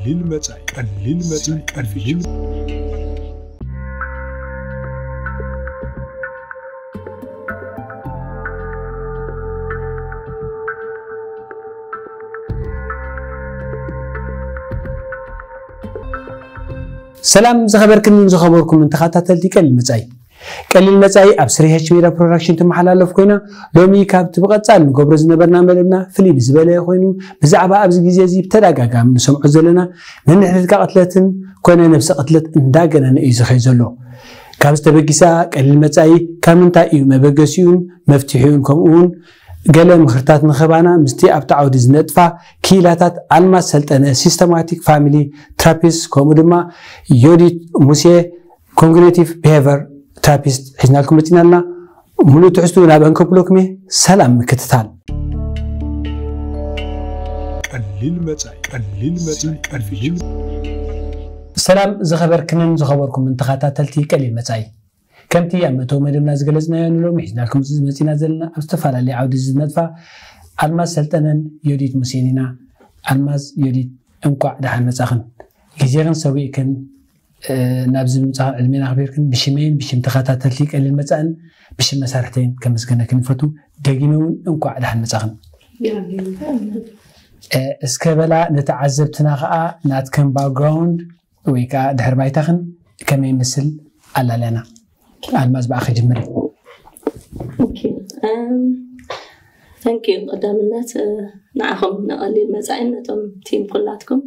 ቀሊል መጻኢ፣ ቀሊል መጻኢ፣ ቀሊል ሰላም ዝኸበርክንን ዝኸበርኩምን ተኸታተልቲ ቀሊል መጻኢ። ቀሊል መጻኢ ኣብ ስሪ ኤች ሜዳ ፕሮዳክሽን ትመሓላለፍ ኮይና፣ ሎሚ ካብቲ ብቐጻሊ ንገብሮ ዝነበርና መደብና ፍልይ ብዝበለ ኮይኑ፣ ብዛዕባ ኣብዚ ግዜ እዚ ብተደጋጋሚ ንሰምዖ ዘለና ነንሕድሕድካ ቅትለትን ኮነ ነብሰ ቅትለት እንዳገነነ እዩ ዝኸይ ዘሎ። ካብ ዝተበጊሳ ቀሊል መጻኢ ካብ ምንታይ እዩ መበገሲኡን መፍትሒኡን፣ ከምኡ እውን ገለ ምኽርታት ንኸባና ምስቲ ኣብቲ ዓውዲ ዝነጥፋ ክኢላታት ኣልማዝ ሰልጠነ፣ ሲስተማቲክ ፋሚሊ ትራፒስት፣ ከምኡ ድማ ዮዲት ሙሴ፣ ኮግኒቲቭ ቢሄቨር ትራፒስት፣ ሒዝናልኩም መጺናልና። ሙሉእ ትሕዝቱ ናብ እንከብለኩም እየ። ሰላም ምክትታል። ቀሊል መጻኢ፣ ቀሊል መጻኢ፣ ቀሊል ሰላም ዝኸበርክንን ዝኸበርኩምን ተኸታተልቲ ቀሊል መጻኢ። ከምቲ ኣብ መእተዊ መደብና ዝገለጽናዮ፣ ንሎሚ ሒዝናልኩም ዝመጺና ዘለና ኣብ ዝተፈላለየ ዓውዲ ዝነጥፋ ኣልማዝ ሰልጠነን ዮዲት ሙሴን ኢና። ኣልማዝ፣ ዮዲት፣ እንቋዕ ደሓን መጻኽን። ግዜኽን ሰዊእክን፣ እ፣ ናብዚ ምምጻኽን ዕድሜና ኣኽቢርክን ብሽመይን ብሽም ተኸታተልቲ ቀሊል መጻእን ብሽም መሳርሕተይን ከመስገነክን ይፈቱ። ደጊመ እውን እንቋዕ ደሓን መጻኽን። እ፣ እስከ በላ ንተዓዘብትና ኸኣ ናትክን ባክግራውንድ ወይ ከዓ ድሕሪ ባይታኽን ከመይ ይመስል ኣላልያና። ኣልማዝ ብኣኺ ጅምሪ። ኦኬ፣ እም፣ thank you። ቀዳምነት፣ እ፣ ንዓኹም ንቐሊል መጻኢን ነቶም ቲም ኩላትኩም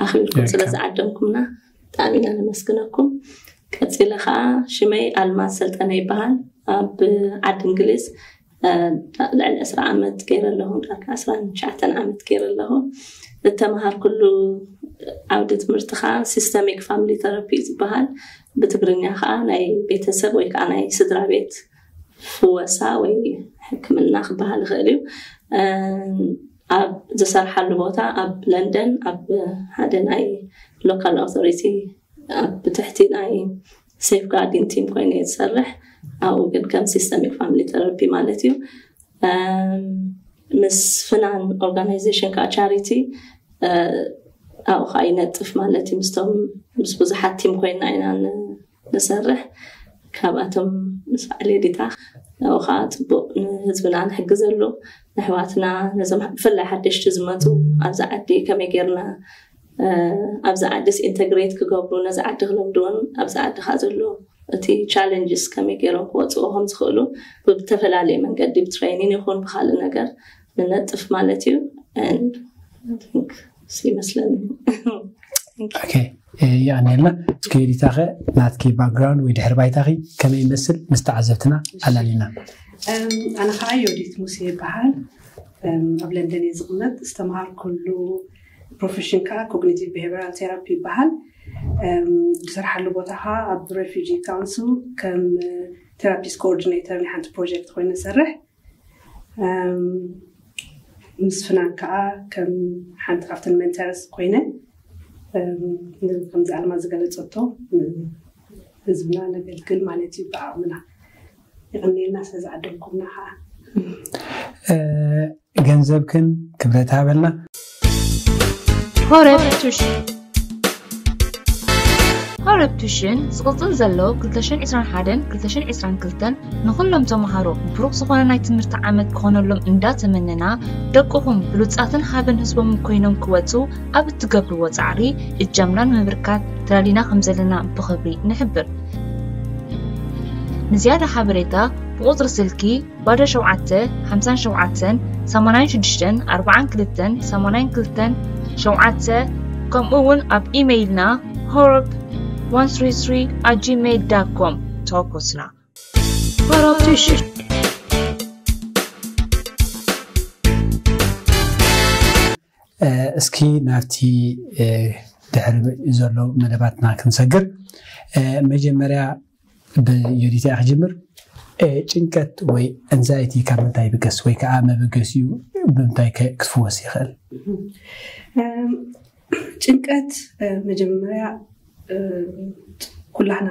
ኣኽቢርኩም ስለ ዝዓደምኩምና ብጣዕሚ ኢና ነመስግነኩም። ቀጺለ ኸኣ ሽመይ ኣልማዝ ሰልጠነ ይበሃል። ኣብ ዓዲ እንግሊዝ፣ እ፣ ልዕሊ ዕስራ ዓመት ገይረ ኣለኹ፣ ዳርጋ ዕስራን ትሽዓተን ዓመት ገይረ ኣለኹ። እተምሃርኩሉ ዓውዲ ትምህርቲ ኸኣ ሲስተሚክ ፋሚሊ ተራፒ እዩ ዝበሃል። ብትግርኛ ኸኣ ናይ ቤተሰብ ወይ ከዓ ናይ ስድራ ቤት ፍወሳ ወይ ሕክምና ክበሃል ይኽእል እዩ። እም፣ ኣብ ዝሰርሓሉ ቦታ ኣብ ለንደን ኣብ ሓደ ናይ ሎካል ኣውቶሪቲ ኣብ ብትሕቲ ናይ ሴፍ ጋርዲን ቲም ኮይነ እየ ዝሰርሕ። ኣብኡ ግን ከም ሲስተሚክ ፋሚሊ ተራፒ ማለት እዩ። እም፣ ምስ ፍናን ኦርጋናይዜሽን ከዓ ቻሪቲ፣ እ፣ ኣብኡ ከዓ ይነጥፍ ማለት እዩ። ምስቶም ምስ ብዙሓት ቲም ኮይና ኢና ን-፣ ንሰርሕ። ካብኣቶም ምስ በዓል ዮዲት፣ ኣብኡ ከዓ ፅቡቅ ንህዝብና ንሕግዘሉ፣ ንኣሕዋትና፣ ነዞም ብፍላይ ሓደሽቲ ዝመፁ ኣብዚ ዓዲ ከመይ ጌርና፣ እ፣ ኣብዚ ዓዲስ ኢንተግሬት ክገብሩ፣ ነዚ ዓዲ ክለምድዎን ኣብዚ ዓዲ ከዓ ዘሎ እቲ ቻለንጅስ ከመይ ገይሮም ክወፅዎ ከም ዝኽእሉ ብተፈላለየ መንገዲ ብትሬኒን ይኹን ብካልእ ነገር ንነጥፍ ማለት እዩ። And I think እሱ ይመስለኒ። ኦኬ፣ እ፣ የቐንየልና። እስኪ ዮዲት፣ ኣኸ ናትኪ ባክግራውንድ ወይ ድሕሪ ባይታኺ ከመይ ይመስል ምስ ተዓዘብትና ኣላልይና። እም፣ ኣነ ከዓ ዮዲት ሙሴ ይበሃል። እም፣ ኣብ ለንደን እየ ዝቕመጥ። ዝተምሃርኩሉ ፕሮፌሽን ከዓ ኮግኒቲቭ ቢሄቪራል ቴራፒ ይበሃል። እም፣ ዝሰርሓሉ ቦታ ከዓ ኣብ ሬፊጂ ካውንስል ከም ቴራፒስት ኮኦርዲኔተር ናይ ሓንቲ ፕሮጀክት ኮይነ እሰርሕ። እም፣ ምስ ፍናን ከዓ ከም ሓንቲ ካብተን ሜንተርስ ኮይነ፣ እም፣ ከምዚ ኣልማዝ ዝገለፀቶ፣ ን-፣ ህዝብና ነገልግል ማለት እዩ ብዓቕምና። የቐንየልና ስለ ዝዓደምኩምና ከዓ። እ፣ ገንዘብክን ክብረት ሃበልና። ሆረብ ቱሽን። ሆረብ ቱሽን ዝቕጽል ዘሎ ክልተ ሽሕን ዕስራን ሓደን ክልተ ሽሕን ዕስራን ክልተን ንኹሎም ተምሃሮ ብሩኽ ዝኾነ ናይ ትምህርቲ ዓመት ክኾነሎም እንዳተመነና፣ ደቅኹም ብሉጻትን ሃብን ህዝቦም ኮይኖም ክወጹ ኣብ እትገብርዎ ጻዕሪ እጃምና ንምብርካት ተዳሊና ከም ዘለና ብኽብሪ ንሕብር። ንዝያዳ ሓበሬታ ብቁጽሪ ስልኪ ባዶ ሸውዓተ፣ ሓምሳን ሸውዓተን፣ ሰማንያን ሽዱሽተን፣ ኣርባዓን ክልተን፣ ሰማንያን ክልተን፣ ሸውዓተ፣ ከምኡ እውን ኣብ ኢሜይልና ሆረብ one three three at gmail dot com ተወከሱና። ሆረብ ቱሽን። እ፣ እስኪ ናብቲ፣ እ፣ ድሕሪ ዘሎ መደባትና ክንሰግር፣ እ፣ መጀመርያ ብዮዲት እያ ክጅምር። እ፣ ጭንቀት ወይ ኤንዛይቲ ካብ ምንታይ ይብገስ ወይ ከዓ መበገሲኡ ብምንታይ ከ-፣ ክትፍወስ ይኽእል? እም፣ ጭንቀት፣ እ፣ መጀመርያ፣ እ፣ ኩላህና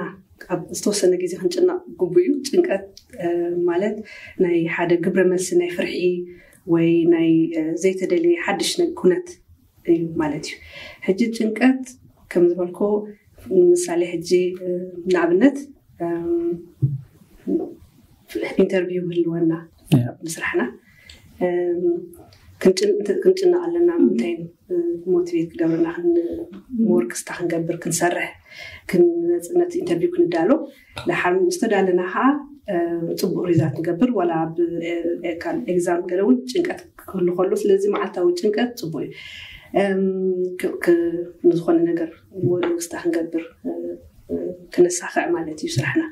ኣብ ዝተወሰነ ግዜ ክንጭነቕ ግቡእ እዩ። ጭንቀት፣ እ፣ ማለት ናይ ሓደ ግብረ መልሲ ናይ ፍርሒ ወይ ናይ፣ እ፣ ዘይተደለየ ሓድሽ ነ-፣ ኩነት እዩ ማለት እዩ። ሕጂ ጭንቀት ከም ዝበልኮ ምሳሌ ሕጂ ንኣብነት ኢንተርቪው ህልወና ምስራሕና ክንጭነቕ ኣለና። ምንታይ ሞቲቬት ክገብርና ሞር ክስታ ክንገብር ክንሰርሕ ነቲ ኢንተርቪው ክንዳሎ። ደሓር ምስ ተዳለና ከዓ ፅቡቅ ሪዛልት ንገብር። ዋላ ኣብ ኤግዛም ገለ እውን ጭንቀት ክህሉ ከሎ፣ ስለዚ መዓልታዊ ጭንቀት ፅቡቅ እዩ። ንዝኾነ ነገር ክስታ ክንገብር ክነሳኽዕ ማለት እዩ ስራሕና።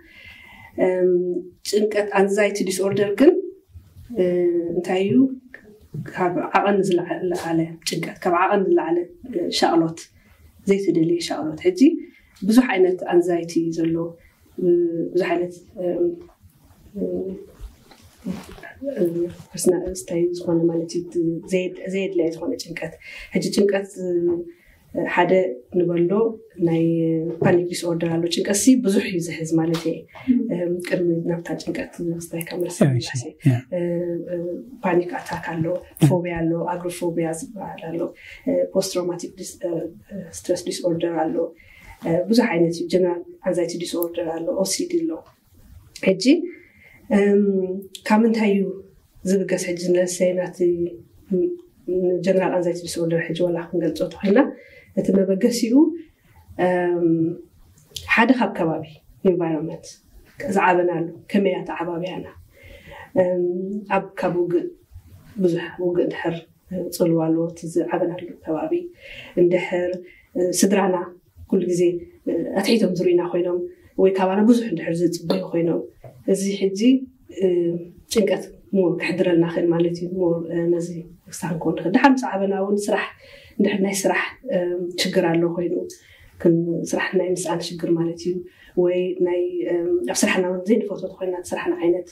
ጭንቀት ኣንዛይቲ ዲስኦርደር ግን እንታይ እዩ? ካብ ዓቐን ዝለዓለ ጭንቀት፣ ካብ ዓቐን ዝለዓለ ሻቕሎት፣ ዘይተደለየ ሻቕሎት። ሕጂ ብዙሕ ዓይነት ኣንዛይቲ ዘሎ፣ ብዙሕ ዓይነት ፐርሶናል ስታይ ዝኾነ ማለት እዩ፣ ዘየድላይ ዝኾነ ጭንቀት። ሕጂ ጭንቀት ሓደ ንበሎ ናይ ፓኒክ ዲስኦርደር ኣሎ። ጭንቀት ሲ ብዙሕ እዩ ዝሕዝ ማለት እየ። ቅድሚ ናብታ ጭንቀት ስታይ ካብ መልስ ፓኒክ ኣታክ ኣሎ፣ ፎቢያ ኣሎ፣ ኣግሮፎቢያ ዝበሃል ኣሎ፣ ፖስት ትራውማቲክ ስትረስ ዲስኦርደር ኣሎ። ብዙሕ ዓይነት እዩ። ጀነራል ኣንዛይቲ ዲስኦርደር ኣሎ፣ ኦሲዲ ኣሎ። ሕጂ ካብ ምንታይ እዩ ዝብገስ? ሕጂ ንለሰይ ናቲ ጀነራል ኣንዛይቲ ዲስኦርደር ሕጂ ዋላ ክንገልፆ ተኮይና፣ እቲ መበገሲኡ ሓደ ካብ ከባቢ ኢንቫይሮንመንት ዝዓበናሉ፣ ከመይ ኣተዓባብያና፣ ኣብ ካብ ውግእ ብዙሕ ውግእ እንድሕር ፅልዋ ኣለዎ እቲ ዝዓበናሉ ከባቢ፣ እንድሕር ስድራና ኩሉ ግዜ ኣትሒቶም ዝርእዩና ኮይኖም ወይ ካባና ብዙሕ እንድሕር ዝፅበዩ ኮይኖም፣ እዚ ሕጂ ጭንቀት ሞር ክሕድረልና ክእል ማለት እዩ። ሞር ነዚ ክሳብ ክንኮን ንኽእል። ደሓር ምስ ዓበና እውን ስራሕ እንድሕር ናይ ስራሕ ችግር ኣሎ ኮይኑ፣ ስራሕ ናይ ምስኣን ሽግር ማለት እዩ። ወይ ናይ ኣብ ስራሕና እውን ዘይንፈትዎ ተኮይና እቲ ስራሕና ዓይነት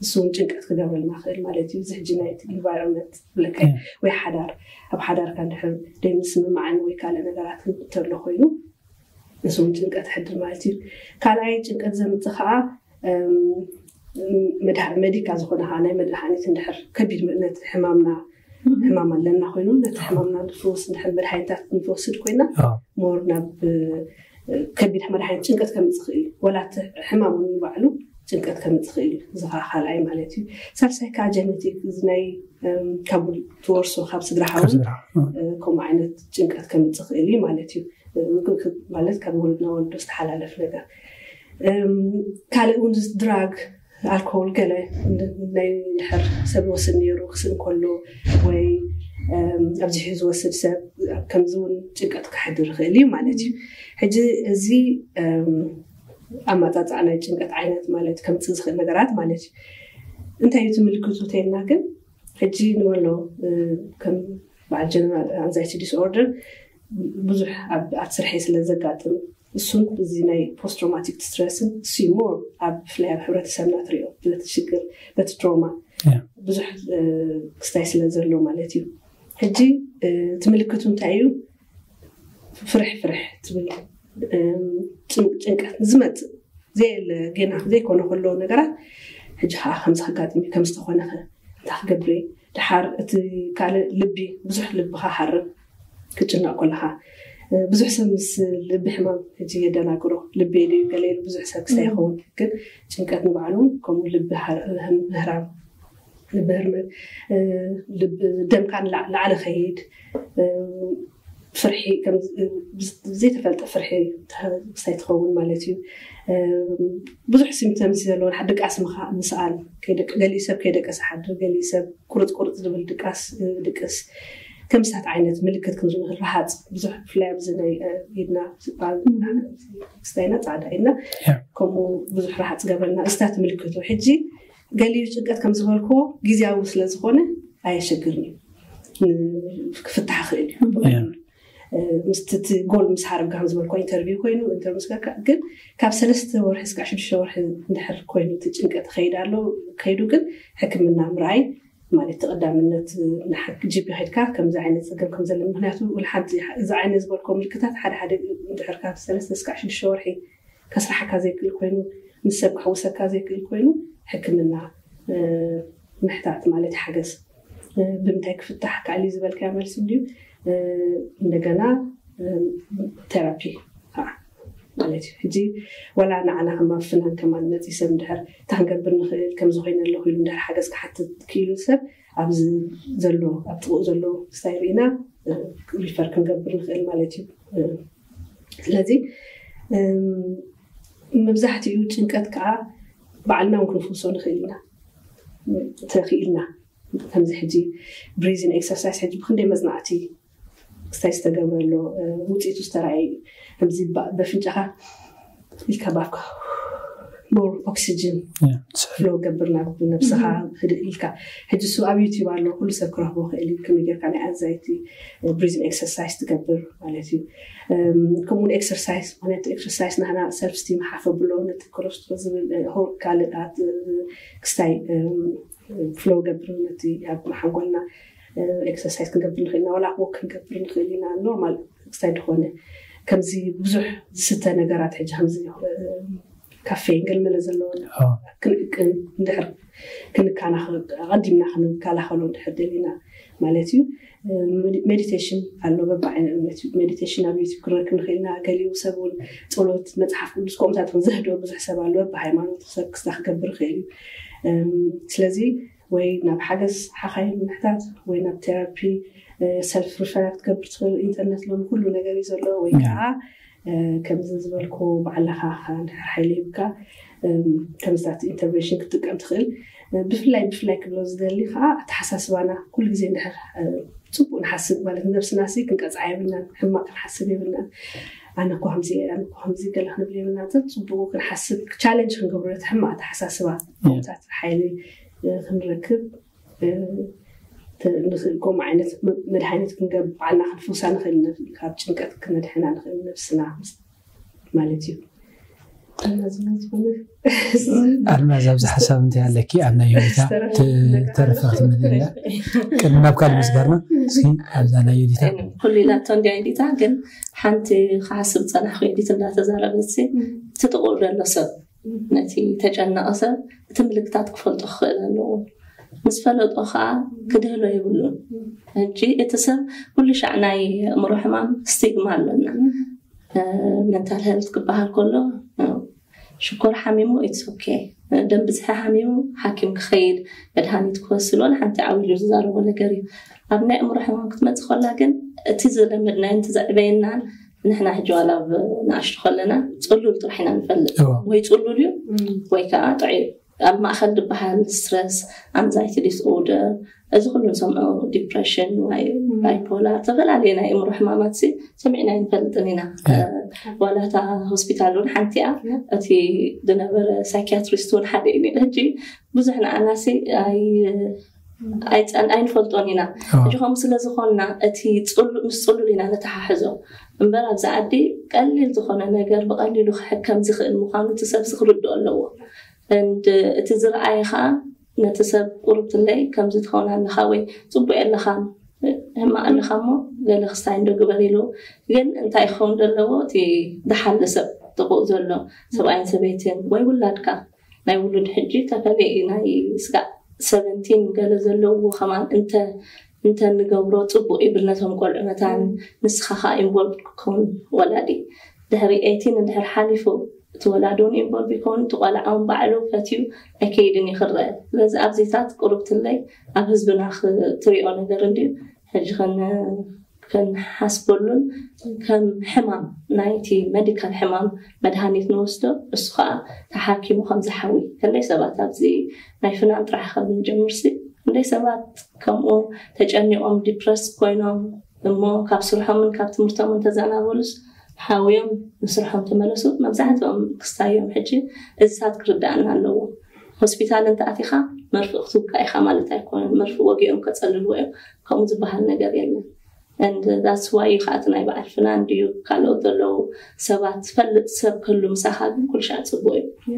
ንሱ እውን ጭንቀት ክገብረልና ክእል ማለት እዩ። እዚ ሕጂ ናይ ኢንቫይሮንመንት ብለካ ወይ ሓዳር፣ ኣብ ሓዳርካ እንድሕር ደይምስምማዕን ወይ ካልእ ነገራትን እንተሎ ኮይኑ ንሱ እውን ጭንቀት ሕድር ማለት እዩ። ካልኣይ ጭንቀት ዘምፅእ ከዓ መዲካ ዝኾነ ከዓ ናይ መድሃኒት እንድሕር ከቢድ ነቲ ሕማምና ሕማም ኣለና ኮይኑ ነቲ ሕማምና ንፍውስ እንድሕር መድሃኒታት ንወስድ ኮይና ሞር ናብ ከቢድ መድሃኒት ጭንቀት ከምፅእ ክእል እዩ። ወላ እቲ ሕማም ንባዕሉ ጭንቀት ከምፅእ ክእል እዩ። እዚ ከዓ ካልኣይ ማለት እዩ። ሳልሳይ ከዓ ጀነቲክ፣ እዚ ናይ ካብ ትወርሶ ካብ ስድራካ እውን ከምኡ ዓይነት ጭንቀት ከምፅእ ክእል እዩ ማለት እዩ። ማለት ካብ ወለድ ናብ ወለዶ ዝተሓላለፍ ነገር። ካልእ እውን ድራግ፣ ኣልኮል፣ ገለ ናይ ድሕር ሰብ ይወስድ ነይሩ ክስእ እንከሎ ወይ ኣብዚሑ ዝወስድ ሰብ ከምዚ እውን ጭንቀት ክሕድር ይኽእል እዩ ማለት እዩ። ሕጂ እዚ ኣመፃፅኣ ናይ ጭንቀት ዓይነት ማለት ከምፅእ ዝኽእል ነገራት ማለት እዩ። እንታይ እዩ እቲ ምልክቱ ተይልና ግን ሕጂ ንበሎ ከም በዓል ጀነራል ኣንዛይቲ ዲስኦርደር ብዙሕ ኣብ ስርሐይ ስለ ዘጋጥም እሱን እዚ ናይ ፖስት ትራውማቲክ ስትረስን እሱ ሞር ኣብ ብፍላይ ኣብ ሕብረተሰብና ትሪኦ በቲ ሽግር በቲ ትሮማ ብዙሕ ክስታይ ስለ ዘሎ ማለት እዩ። ሕጂ እቲ ምልክቱ እንታይ እዩ? ፍርሕ ፍርሕ ትብል ጭንቀት ዝመፅእ ዘየለ ገና ዘይኮነ ከሎ ነገራት ሕጂ ከዓ ከምዚ ከጋጥም ከምዝተኮነኸ እንታይ ክገብር? ድሓር እቲ ካልእ ልቢ ብዙሕ ልብካ ሓርም ክጭነቅ ከለካ ብዙሕ ሰብ ምስ ልቢ ሕማም ሕጂ የደናግሮ። ልቢ ድዩ ገለ ኢሉ ብዙሕ ሰብ ክስታይ ይኸውን፣ ግን ጭንቀት ንባዕሉ ከምኡ ልቢ ምህራም፣ ልቢ ህርመት፣ ደምካ ንላዕሊ ከይድ፣ ፍርሒ ዘይተፈልጠ ፍርሒ ክስታይ ትኸውን ማለት እዩ። ብዙሕ ሲምፕተምስ ዘለዎን ድቃስ ምስኣል፣ ገሊኡ ሰብ ከይደቀሰ ሓድር፣ ገሊኡ ሰብ ቁርፅ ቁርፅ ዝብል ድቃስ ድቅስ፣ ከምስታት ዓይነት ምልክት ክንርኢ ንኽእል። ረሃፅ ብዙሕ ብፍላይ ኣብዚ ናይ ኢድና ስጣል ክስታይና ፃዕዳ ኢድና ከምኡ ብዙሕ ረሃፅ ገብረና፣ እስታት ምልክቱ። ሕጂ ገሊኡ ጭንቀት ከም ዝበልክዎ ግዜያዊ ስለ ዝኾነ ኣየሸግርን እዩ፣ ክፍታሕ ክእል እዩ። ምስቲ እቲ ጎል ምስ ሃረብካ ከም ዝበልኮ ኢንተርቪው ኮይኑ ኢንተርቪው ምስ ገርካ ግን ካብ ሰለስተ ወርሒ እስካብ ሽዱሽተ ወርሒ እንድሕር ኮይኑ እቲ ጭንቀት ከይድ ኣሎ ከይዱ ግን ሕክምና ምርኣይ ማለት ተቐዳምነት ጂፒ ከድካ ከምዚ ዓይነት ፀገም ከም ዘለ ምክንያቱ ሓንቲ እዚ ዓይነት ዝበልኮ ምልክታት ሓደ ሓደ እንድሕር ካብ ሰለስተ እስካብ ሽዱሽተ ወርሒ ከስራሓካ ዘይክእል ኮይኑ ምስ ሰብ ክሕውሰካ ዘይክእል ኮይኑ ሕክምና ምሕታት ማለት ሓገዝ ብምንታይ ክፍታሕ ከኣል እዩ ዝበልካዮ መልሲ እንድዩ። እንደገና ቴራፒ ከዓ ማለት እዩ። ሕጂ ዋላ ንዓና ከም ኣብ ፍናን ከማን መፂ ሰብ እንድሕር እንታይ ክንገብር ንኽእል፣ ከምዚ ኮይነ ኣለኹ ኢሉ እንድሕር ሓገዝ ክሓትት ክኢሉ ሰብ ኣብዚ ዘሎ ኣብ ጥቕኡ ዘሎ ክስታይ ርኢና ሪፈር ክንገብር ንኽእል ማለት እዩ። ስለዚ መብዛሕትኡ ጭንቀት ከዓ ባዕልና እውን ክንፍውሶ ንኽእል ኢና። ተኽኢልና ከምዚ ሕጂ ብሪዚን ኤክሰርሳይስ ሕጂ ብክንደይ መፅናዕቲ ክስታይ ዝተገብረሎ ውፅኢቱ ዝተረኣየ እዩ። ከምዚ በፍንጫኻ ኢልካ ባፍካ ሞር ኦክሲጅን ፍሎ ገብር ናብ ነብስኻ ህድእ ኢልካ። ሕጂ እሱ ኣብ ዩቲዩብ ኣሎ፣ ኩሉ ሰብ ክረኽቦ ክእል እዩ። ከመይ ጌርካ ናይ ኣንዛይቲ ብሪዚን ኤክሰርሳይስ ትገብር ማለት እዩ። ከምኡውን ኤክሰርሳይስ፣ ምክንያቱ ኤክሰርሳይስ ናህና ሰልፍ ስቲም ሓፍ ኣብሎ፣ ነቲ ኮለስትሮል ዝብል ካልእ ክስታይ ፍሎ ገብር ነቲ ኣብ ሓንጎልና ኤክሰርሳይስ ክንገብር ንኽእል ኢና፣ ዋላ ወክ ክንገብር ንኽእል ኢና። ኖርማል ክስታይ ዝኾነ ከምዚ ብዙሕ ዝስተ ነገራት ሕጂ ከምዚ ካፌን ገልመለ ዘለዎ ክንእቅን እንድሕር ክንከናኸ ኣቐዲምና ክንከላኸሎ እንድሕር ደሊና ማለት እዩ። ሜዲቴሽን ኣሎ፣ በብዓይነት ሜዲቴሽን ኣብ ዩቲብ ክንረክብ ንኽእል ኢና። ገሊኡ ሰብ እውን ጸሎት፣ መጽሓፍ ቅዱስ ከምኡታት እውን ዘህድኦ ብዙሕ ሰብ ኣሎ። በብሃይማኖት ሰብ ክስታ ክገብር ይኽእል እዩ። ስለዚ ወይ ናብ ሓገዝ ሓኻይም ምሕታት ወይ ናብ ቴራፒ ሰልፍ ሪፈራል ክትገብር ትኽእል። ኢንተርነት ሎሚ ኩሉ ነገር እዩ ዘሎ። ወይ ከዓ ከምዚ ዝበልኩ ባዕልኻ እንድሕር ሓይሊ ሂብካ ከምዚታት ኢንተርቬንሽን ክትጥቀም ትኽእል። ብፍላይ ብፍላይ ክብሎ ዝደሊ ከዓ ኣተሓሳስባና ኩሉ ግዜ እንድሕር ፅቡቅ ንሓስብ ማለት ነብስና ሲ ክንቀፅዓ የብልናን፣ ሕማቅ ክንሓስብ የብልናን። ኣነ እኮ ከምዚ እየ፣ ኣነ እኮ ከምዚ ገለ ክንብል የብልና። እቲ ፅቡቅ ክንሓስብ ቻለንጅ ክንገብሮ እቲ ሕማቅ ኣተሓሳስባ ታት ሓይሊ ክንረክብ ንኽእል። ከምኡ ዓይነት መድሃኒት ክንገብር ባዕልና ክንፍውሳ ንኽእል፣ ካብ ጭንቀት ክነድሕና ንኽእል ነብስና ማለት እዩ። ኣልማዝ ኣብዚ ሓሳብ እንታይ ኣለኪ? ኣብ ናይ ዮዲታ ተረፈ ክትመልእና ቅድሚ ናብ ካልእ ምስጋርና እስኪ ኣብዛ ናይ ዮዲታ ኩሉ ኢላቶ እንዲያ ዮዲታ ግን ሓንቲ ክሓስብ ፀናሕኩ ዮዲት እንዳተዛረበት እቲ ጥቁር ዘሎ ሰብ ነቲ ተጨነቐ ሰብ እቲ ምልክታት ክፈልጦ ክኽእል ኣለዎ። ምስ ፈለጦ ከዓ ክድህሎ የብሉን። ሕጂ እቲ ሰብ ኩሉ ሻዕ ናይ ኣእምሮ ሕማም ስቲግማ ኣለና። መንታል ሄልት ክበሃል ከሎ ሽኮር ሓሚሙ ኢትስ ኦኬ፣ ደም ብዝሒ ሓሚሙ ሓኪም ክኸይድ መድሃኒት ክወስድ ወላ ሓንቲ ዓው ኢሉ ዝዛረቦ ነገር እዩ። ኣብ ናይ ኣእምሮ ሕማም ክትመፅእ ከላ ግን እቲ ዝለመድናዮን እቲ ዘዕበየናን ንሕና ሕጂ ዋላ ኣብ ንኣሽቱ ከለና ፅሉል ጥራሕ ኢና ንፈልጥ። ወይ ፅሉል እዩ ወይ ከዓ ጥዑይ ኣብ ማእከል ዝበሃል ስትረስ፣ ኣንዛይቲ ዲስኦርደር፣ እዚ ኩሉ ንሰምዖ ዲፕሬሽን ወይ ባይፖላር፣ ዝተፈላለዩ ናይ እምሮ ሕማማት ሲ ሰሚዕና ኣይንፈልጥን ኢና። ዋላ እታ ሆስፒታል እውን ሓንቲ እያ። እቲ ዝነበረ ሳይኪያትሪስት እውን ሓደ እዩ። ሕጂ ብዙሕ ንዓና ሲ ኣይፀን ኣይንፈልጦን ኢና። ሕጂ ከምኡ ስለ ዝኾንና እቲ ምስ ፅሉል ኢና ነተሓሕዞ እምበር ኣብዚ ዓዲ ቀሊል ዝኾነ ነገር ብቐሊሉ ክሕከም ዝኽእል ምዃኑ እቲ ሰብ ክርድኦ ኣለዎ። And እቲ ዝረኣየ ከዓ ነቲ ሰብ ቁርብትለይ ከምዚ ትኸውን ኣለኻ ወይ ፅቡቅ ኣለኻ ሕማቅ ኣለኻ እሞ ገለ ክስታይ እንዶ ግበር ኢሉ ግን እንታይ ክኸውን ዘለዎ እቲ ዝሓሊ ሰብ ጥቁእ ዘሎ ሰብኣይን ሰበይትን ወይ ውላድካ ናይ ውሉድ ሕጂ ተፈለየ እዩ ናይ ስጋዕ ሰቨንቲን ገለ ዘለዎ ከማን እንተ እንተ ንገብሮ ፅቡቅ ይብል ነቶም ቆልዑ መታን ንስኻ ከዓ ኢንቮልቭ ክኸውን ወላዲ ድሕሪ ኤይቲን እንድሕር ሓሊፉ እቲ ወላዲ እውን ኢንቮልቭ ይኸውን እቲ ቆልዓ እውን ባዕሉ ፈትዩ ኣይከይድን ይኽረአ ስለዚ ኣብዚታት ቁርብትለይ ኣብ ህዝብና ክትሪኦ ነገር እንድዩ ሕጂ ክንሓስበሉን ከም ሕማም ናይቲ መዲካል ሕማም መድሃኒት ንወስዶ እሱ ከዓ ተሓኪሙ ከም ዝሓዊ ከለይ ሰባት ኣብዚ ናይ ፍናን ጥራሕ ካብ ንጀምርሲ ክንደይ ሰባት ከምኡ ተጨኒቆም ዲፕረስ ኮይኖም እሞ ካብ ስርሖምን ካብ ትምህርቶምን ተዘናበሉስ ሓውዮም ንስርሖም ተመለሱ መብዛሕትኦም ክስታዮም ሕጂ እዚታት ክርዳእና ኣለዎ ሆስፒታል እንተኣቲኻ መርፍእ ክትውጋእ ኢኻ ማለት ኣይኮነን መርፍእ ወጊኦም ከፀልልዎ እዮም ከምኡ ዝበሃል ነገር የለን and that's why እዩ ከዓ እቲ ናይ በዓል ፍናን ድዩ ካልኦት ዘለዉ ሰባት ዝፈልጥ ሰብ ክህሉ ምሳኻ ግን ኩልሻዕ ፅቡቅ እዩ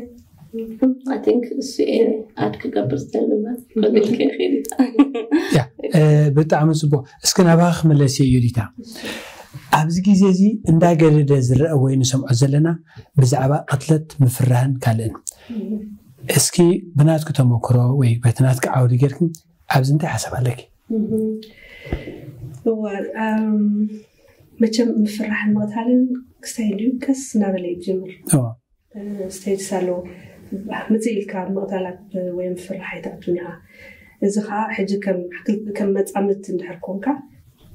I think እሱ እየ ኣድ ክገብር ዝደሊ እምበር ክልልከ ይኽእል እዩ ብጣዕሚ ፅቡቅ እስኪ ናባኻ ክምለስ እየ ዮዲታ ኣብዚ ግዜ እዚ እንዳገደደ ዝረአ ወይ ንሰምዖ ዘለና ብዛዕባ ቅትለት ምፍራህን ካልእን እስኪ ብናትኪ ተመክሮ ወይ በቲ ናትኪ ዓውዲ ጌርኪ ኣብዚ እንታይ ሓሳብ ኣለኪ እዋ መቸም ምፍራሕን ምቕታልን ክስታይ ድዩ ቀስ እናበለ ይጅምር። ስቴጅስ ኣለዎ። ምፅእ ኢልካ ምቕታላት ወይ ምፍራሕ ኣይትኣቱን ኢኻ። እዚ ከዓ ሕጂ ከም መፃምድቲ እንድሕር ኮንካ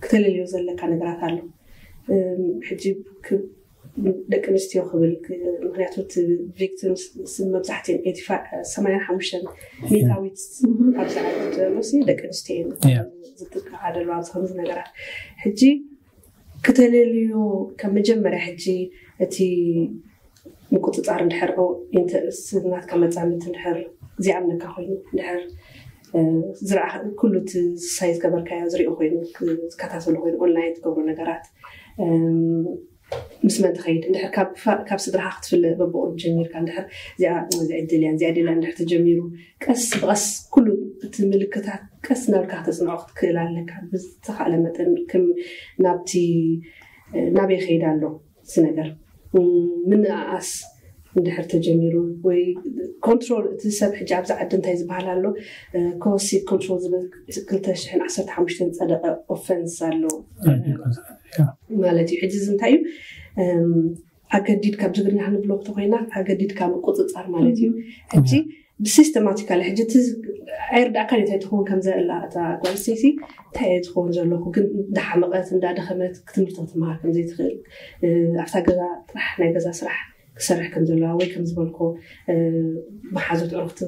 ክተለልዮ ዘለካ ነገራት ኣሎ። ሕጂ ደቂ ኣንስትዮ ክብል፣ ምክንያቱ ቪክቲምስ መብዛሕትኦም ሰማንያን ሓሙሽተን ሚእታዊት ኣብዚ ዓለም ዘሎ ደቂ ኣንስትዮ እዮም ዝጥቃዓ ዘለዋ ኣብዚ ከምዚ ነገራት። ሕጂ ክተለልዮ ካብ መጀመርያ ሕጂ እቲ ምቁፅፃር እንድሕር ናትካ መፃምድቲ እንድሕር ዚኣምነካ ኮይኑ እንድሕር ዝረኣ ኩሉ እቲ ሳይ ዝገበርካዮ ዝሪኦ ኮይኑ ዝከታተሉ ኮይኑ ኦንላይን ትገብሩ ነገራት ምስ መን ትኸይድ እንድሕር ካብ ስድራኻ ክትፍለ በብቑሩብ ጀሚርካ እንድሕር እዚኣ እዚኣ ደልያን እዚኣ ደልያን እንድሕር ተጀሚሩ ቀስ ብቐስ ኩሉ እቲ ምልክታት ቀስ እናበልካ ክተፅንዖ ክትክእል ኣለካ። ብዝተኻእለ መጠን ከም ናብቲ ናበይ ይኸይድ ኣሎ እዚ ነገር ምንኣኣስ እንድሕር ተጀሚሩ ወይ ኮንትሮል እቲ ሰብ ሕጂ ኣብዚ ዓዲ እንታይ ዝበሃል ኣሎ ኮሲ ኮንትሮል ዝብል ክልተ ሽሕን ዓሰርተ ሓሙሽተን ዝፀደቐ ኦፈንስ ኣሎ ማለት እዩ። ሕጂ እዚ እንታይ እዩ ኣገዲድ ካብ ዝግርና ክንብሎ ተኮይና ኣገዲድ ካብ ምቁፅፃር ማለት እዩ። ሕጂ ብሲስተማቲካሊ ሕጂ እቲ ኣይርዳእካን እንታይ ትኸውን ከም ዘላ እታ ጓል ኣንስተይቲ እንታይ እየ ትኸውን ዘለኹ ግን እንዳሓመቐት እንዳደኸመት ክትምህርቲ ክትመሃር ከም ዘይትኽእል ኣብታ ገዛ ጥራሕ ናይ ገዛ ስራሕ ክሰርሕ ከም ዘለዋ ወይ ከም ዝበልኮ መሓዙት ዕሩኽቲ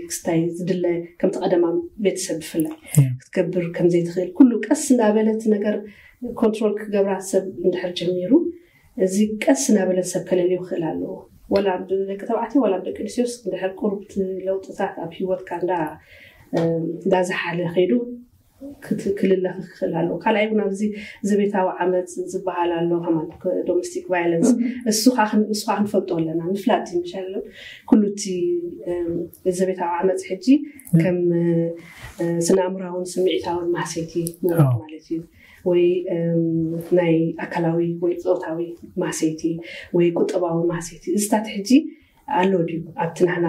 ክስታይ ዝድለ ከምቲ ቀደማ ቤተሰብ ብፍላይ ክትገብር ከም ዘይትኽእል ኩሉ ቀስ እንዳበለት ነገር ኮንትሮል ክገብራ ሰብ እንድሕር ጀሚሩ እዚ ቀስ እናበለ ሰብ ከለልዮ ክኽእል ኣለዎ። ወላ ብደቂ ተባዕትዮ ወላ ብደቂ ኣንስትዮስ እንድሕር ቁሩብ ለውጥታት ኣብ ሂወትካ እንዳ እንዳዝሓለ ከይዱ ክልለ ክኽእል ኣለዎ። ካልኣይ እውን ኣብዚ ዘቤታዊ ዓመፅ ዝበሃል ኣሎ ከማን ዶሜስቲክ ቫይለንስ እሱ እሱ ክንፈልጦ ኣለና ምፍላጥ ይምሻለ ኩሉ እቲ ዘቤታዊ ዓመፅ ሕጂ ከም ስነ ኣእምራውን ስምዒታውን ማህሰይቲ ማለት እዩ። ወይ ናይ ኣካላዊ ወይ ፆታዊ ማህሰይቲ ወይ ቁጠባዊ ማህሰይቲ እዚታት ሕጂ ኣሎ ድዩ ኣብቲ ናህና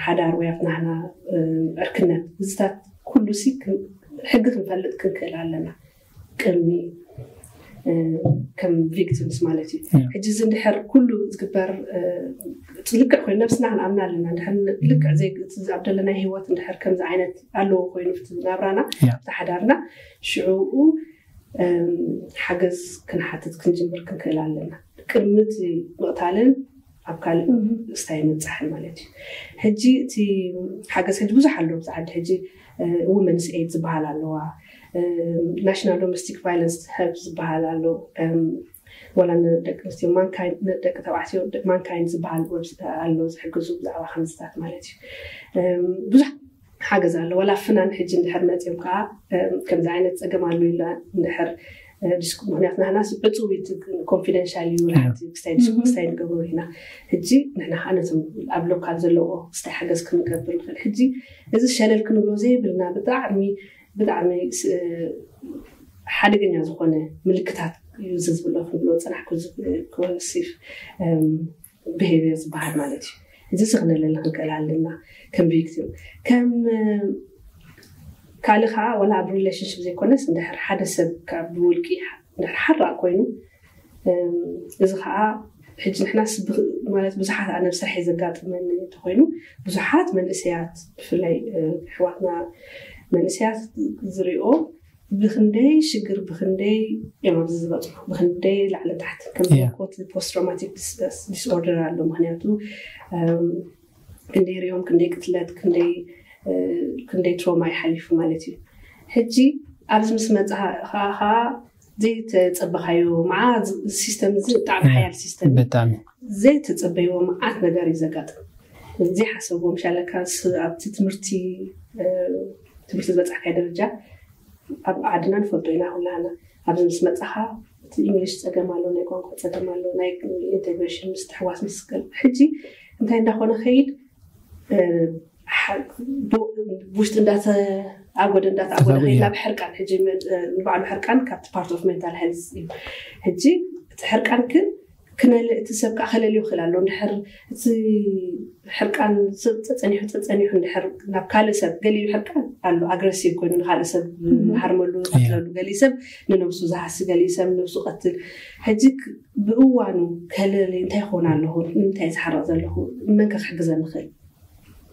ሓዳር ወይ ኣብቲ ናህና ዕርክነት እዚታት ኩሉ ሲ ሕጊ ክንፈልጥ ክንክእል ኣለና ቅድሚ ከም ቪክቲምስ ማለት እዩ። ሕጂ እዚ እንድሕር ኩሉ ዝግበር ልክዕ ኮይኑ ነብስና ክንኣምና ኣለና። እንድሕር ልክዕ ኣብ ዘለና ህይወት እንድሕር ከምዚ ዓይነት ኣለዎ ኮይኑ ናብራና ተሓዳርና ሽዑኡ ሓገዝ ክንሓትት ክንጅምር ክንክእል ኣለና። ቅድሚ እቲ ምቕታልን ኣብ ካልእ ስታይ ምብፃሕን ማለት እዩ። ሕጂ እቲ ሓገዝ ሕጂ ብዙሕ ኣሎ ኣብዚ ዓዲ ሕጂ ውመንስ ኤድ ዝበሃል ኣለዋ ናሽናል ዶሜስቲክ ቫይለንስ ሀብ ዝበሃል ኣሎ ወላ ንደቂ ኣንስትዮ ደቂ ተባዕትዮ ማንካይን ዝበሃል ኣሎ ዝሕግዙ ብዛዕባ ከምዝታት ማለት እዩ ብዙሕ ሓገዝ ኣሎ ወላ ፍናን ሕጂ እንድሕር መፅዮም ከዓ ከምዚ ዓይነት ፀገም ኣሎ ኢላ እንድሕር ምክንያቱ ናህናስ ዕፁብ ኮንፊደንሻል እዩ ክስታይ ንገብሮ ኢና ሕጂ ንሕና ከዓ ነቶም ኣብ ሎካል ዘለዎ ክስታይ ሓገዝ ክንገብር ንኽእል ሕጂ እዚ ሸለል ክንብሎ ዘይብልና ብጣዕሚ ብጣዕሚ ሓደገኛ ዝኾነ ምልክታት እዩ እዚ ዝብሎ ክንብሎ ፅናሕ ክወሲፍ ብሄቪየር ዝበሃል ማለት እዩ። እዚ ስክነለለ ክንክእል ኣለና ከም ቪክቲም ከም ካልእ ከዓ ወላ ኣብ ሪሌሽንሽፕ ዘይኮነስ እንድሕር ሓደ ሰብ ካብ ብውልቂ እንድሕር ሓራቕ ኮይኑ እዚ ከዓ ሕጂ ንሕናስ ማለት ብዙሓት ኣነ ብስራሕ ዘጋጥመኒ እንተኮይኑ ብዙሓት መንእሰያት ብፍላይ ኣሕዋትና መንእሰያት ዝሪኦ ብክንደይ ሽግር ብክንደይ እዮም ኣብዚ ዝበፅሑ ብክንደይ ላዕሊ ታሕቲ ከም ዝበልኩዎ ፖስት ትራውማቲክ ዲስኦርደር ኣሎ ምክንያቱ ክንደይ ሪኦም ክንደይ ቅትለት ክንደይ ክንደይ ትሮማ ይሓሊፉ ማለት እዩ ሕጂ ኣብዚ ምስ መፅኻ ከዓ ዘይተፀበኻዮ መዓ ሲስተም እዚ ብጣዕሚ ሓያል ሲስተም ብጣዕሚ ዘይተፀበይዎ መዓት ነገር እዩ ዘጋጥም ዘይሓሰብዎ ምሻለካ ኣብቲ ትምህርቲ ትምህርቲ ዝበፃሕካዮ ደረጃ ኣብ ዓድና ንፈልጦ ኢና ኩላና ኣብዚ ምስ መፃኻ እቲ ኢንግሊሽ ፀገም ኣሎ ናይ ቋንቋ ፀገም ኣሎ ናይ ኢንቴግሬሽን ምስትሕዋስ ምስክል ሕጂ እንታይ እንዳኾነ ከይድ ውሽጢ እንዳተኣጎደ እንዳተኣጎደ ከይድ ናብ ሕርቃን ሕጂ ንባዕሉ ሕርቃን ካብቲ ፓርት ኦፍ ሜንታል ሄልዝ እዩ ሕጂ እቲ ሕርቃን ግን ክነል እቲ ሰብ ከዓ ከለልዮ ክእል ኣሎ። እንድሕር እቲ ሕርቃን ጸ- ጸጸኒሑ ጸጸኒሑ እንድሕር ናብ ካልእ ሰብ ገሊኡ ሕርቃን ኣሎ፣ ኣግረሲቭ ኮይኑ ንካልእ ሰብ ዝሃርመሉ፣ ዝቀትለሉ፣ ገሊኡ ሰብ ንነብሱ ዝሃሲ፣ ገሊኡ ሰብ ንነብሱ ቀትል። ሕጂ ክ- ብእዋኑ ከለሊ እንታይ ይኾን ኣለኹ፣ ንምንታይ ዝሓርቕ ዘለኹ፣ መን ከ ክሕግዘኒ ይኽእል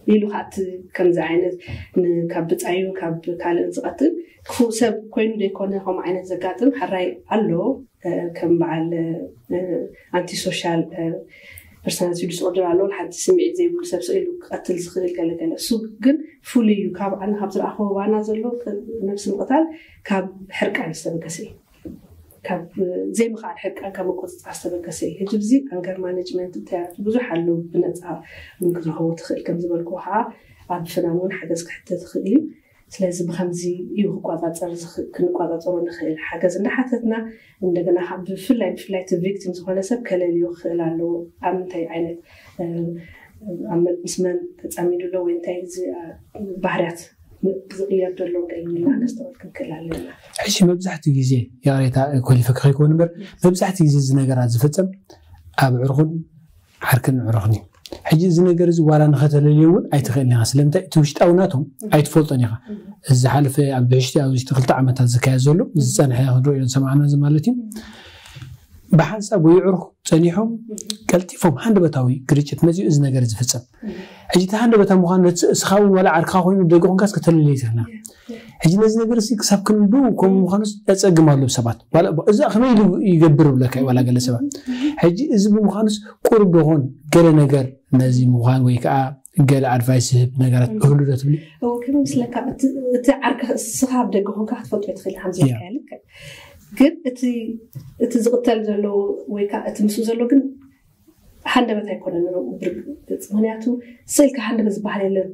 ኢሉ ከዓ እቲ ከምዚ ዓይነት ን- ካብ ብጻዩ ካብ ካልእ ዝቐትል ክፉእ ሰብ ኮይኑ ዘይኮነ ከምኡ ዓይነት ዘጋጥም ሕራይ ኣሎ። ከም በዓል ኣንቲ ሶሻል ፐርሶናሊቲ ዲስኦርደር ኣሎ። ሓንቲ ስምዒት ዘይብሉ ሰብ ስኢሉ ክቐትል ዝኽእል ገለገለ፣ እሱ ግን ፍሉይ እዩ። ካብ ኣነ ካብ ዝረኣኽዎ ባና ዘሎ ነብሲ ምቕታል ካብ ሕርቃን ዝተበገሰ እዩ። ካብ ዘይምኽኣል ሕርቃን ካብ ምቁፅፃር ዝተበገሰ እዩ። ሕጂ ብዚ ኣንገር ማኔጅመንት እንታይ ብዙሕ ኣለዉ ብነፃ እውን ክትረኽቦ ትኽእል። ከም ዝበልኩ ከዓ ኣብ ፍናን እውን ሓገዝ ክሕተ ትኽእል እዩ። ስለዚ ብከምዚ እዩ ክቋፃፀር ዝኽ- ክንቋፃፀሮ ንኽእል። ሓገዝ እንዳሓተትና እንደገና ካብ ብፍላይ ብፍላይ እቲ ቪክቲም ዝኾነ ሰብ ከለልዮ ክኽእል ኣለዎ። ኣብ ምንታይ ዓይነት ኣብ ምስ መን ተፃሚዱ ኣሎ ወይ እንታይ እዚ ባህርያት ዝቕየር ዘሎ ገይና ከስተውዕል ክንክእል ኣለና። ሕጂ መብዛሕትኡ ግዜ ይቕሬታ ኮሊፈ ከይከውን እምበር መብዛሕትኡ ግዜ እዚ ነገራት ዝፍፀም ኣብ ዕርኹን ዓርክን ዕሩኽን እዩ። ሕጂ እዚ ነገር እዚ ዋላ ንኸተለልዮ እውን ኣይትኽእልን ኢኻ። ስለምንታይ እቲ ውሽጣዊ ናቶም ኣይትፈልጦን ኢኻ። እዚ ዝሓለፈ ኣብ ብሕሽቲ ኣብዚ ክልተ ዓመታት ዝካየድ ዘሎ ዝፀንሐ ክንሪኦ ዝሰማዕና እዚ ማለት እዩ። ብሓንሳብ ወይ ዕሩኽ ፀኒሖም ቀልጢፎም ሃንደበታዊ ግርጭት መፂኡ እዚ ነገር ዝፍፀም። ሕጂ እቲ ሃንደበታዊ ምዃኑ ነቲ እስኻ እውን ዋላ ዓርክኻ ኮይኑ ደገ ኮንካስ ከተለልዮ ይትኽእልና። ሕጂ ነዚ ነገር እዚ ክሳብ ክንዱ ከምኡ ምዃኑስ ኣፀግም ኣሎ ሰባት። ዋላ እዛ ከመይ ኢሉ ይገብር ብለካ እዩ ዋላ ገለ ሰባት። ሕጂ እዚ ብምዃኑስ ቁሩብ ዶኾን ገለ ነገር ነዚ ምዃን ወይ ከዓ ገለ ኣድቫይስ ዝህብ ነገራት እህሉ ዶ ትብሊ? እዎ ከመይ ምስለካ እቲ ዓርኪ እስኻ ኣብ ደገ ኮንካ ክትፈልጦ ይትኽእል ሓምዚ ልክዕ ግን እቲ ዝቕተል ዘሎ ወይ ከዓ እቲ ምስኡ ዘሎ ግን ሃንደበት ኣይኮነን ንዕኡ ብርግፅ ምክንያቱ ስእልካ ሃንደበት ዝበሃል የለን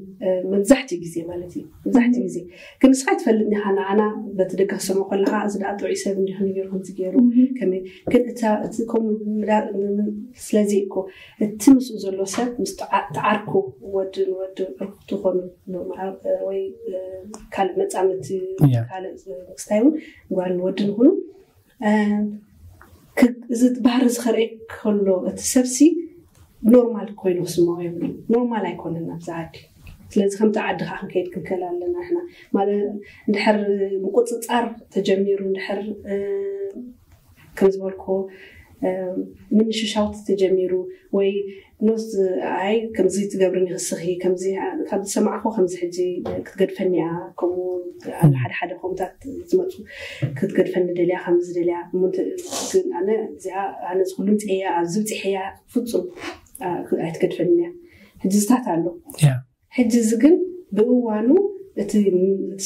መብዛሕትኡ ግዜ ማለት እዩ መብዛሕትኡ ግዜ ግን ንስኻ ይትፈልጥ ኒኻ ንዓና በቲ ደገ ክሰምዖ ከለኻ እዚ ደኣ ጥዑይ ሰብ እንዲኹም ገይሩ ከምዚ ገይሩ ከመይ ግን እቲ ከምኡ ስለዚ እኮ እቲ ምስኡ ዘሎ ሰብ ምስ ተዓርኩ ወድን ወድን ዕርኩ ትኾኑ ወይ ካልእ መፃምድቲ ካልእ ክስታይ እውን ጓልን ወድን ይኹኑ እዚ ባህሪ እዚ ከርኢ ከሎ እቲ ሰብሲ ኖርማል ኮይኑ ክስምዖ የብሉ ኖርማል ኣይኮነን ኣብዚ ዓዲ ስለዚ ከምቲ ዓዲ ከዓ ክንከይድ ክንከል ኣለና ንሕና ማለት እንድሕር ምቁፅፃር ተጀሚሩ እንድሕር ከም ዝበልኩ ምንሽሻውቲ ተጀሚሩ ወይ ኖስ ኣይ ከምዚ ትገብርኒ ክስኺ ከምዚ ካብ ዝሰማዕኹ ከምዚ ሕጂ ክትገድፈኒ እያ ከምኡ ሓደ ሓደ ከምታት ዝመፁ ክትገድፈኒ ደልያ ከምዚ ደልያ ግን ኣነ እዚኣ ኣነ ዝኩሉም ፅያ ኣብዚ ብፅሕያ ፍፁም ኣይትገድፈኒ እያ ሕጂ ዝታት ኣሎ ሕጂ እዚ ግን ብእዋኑ እቲ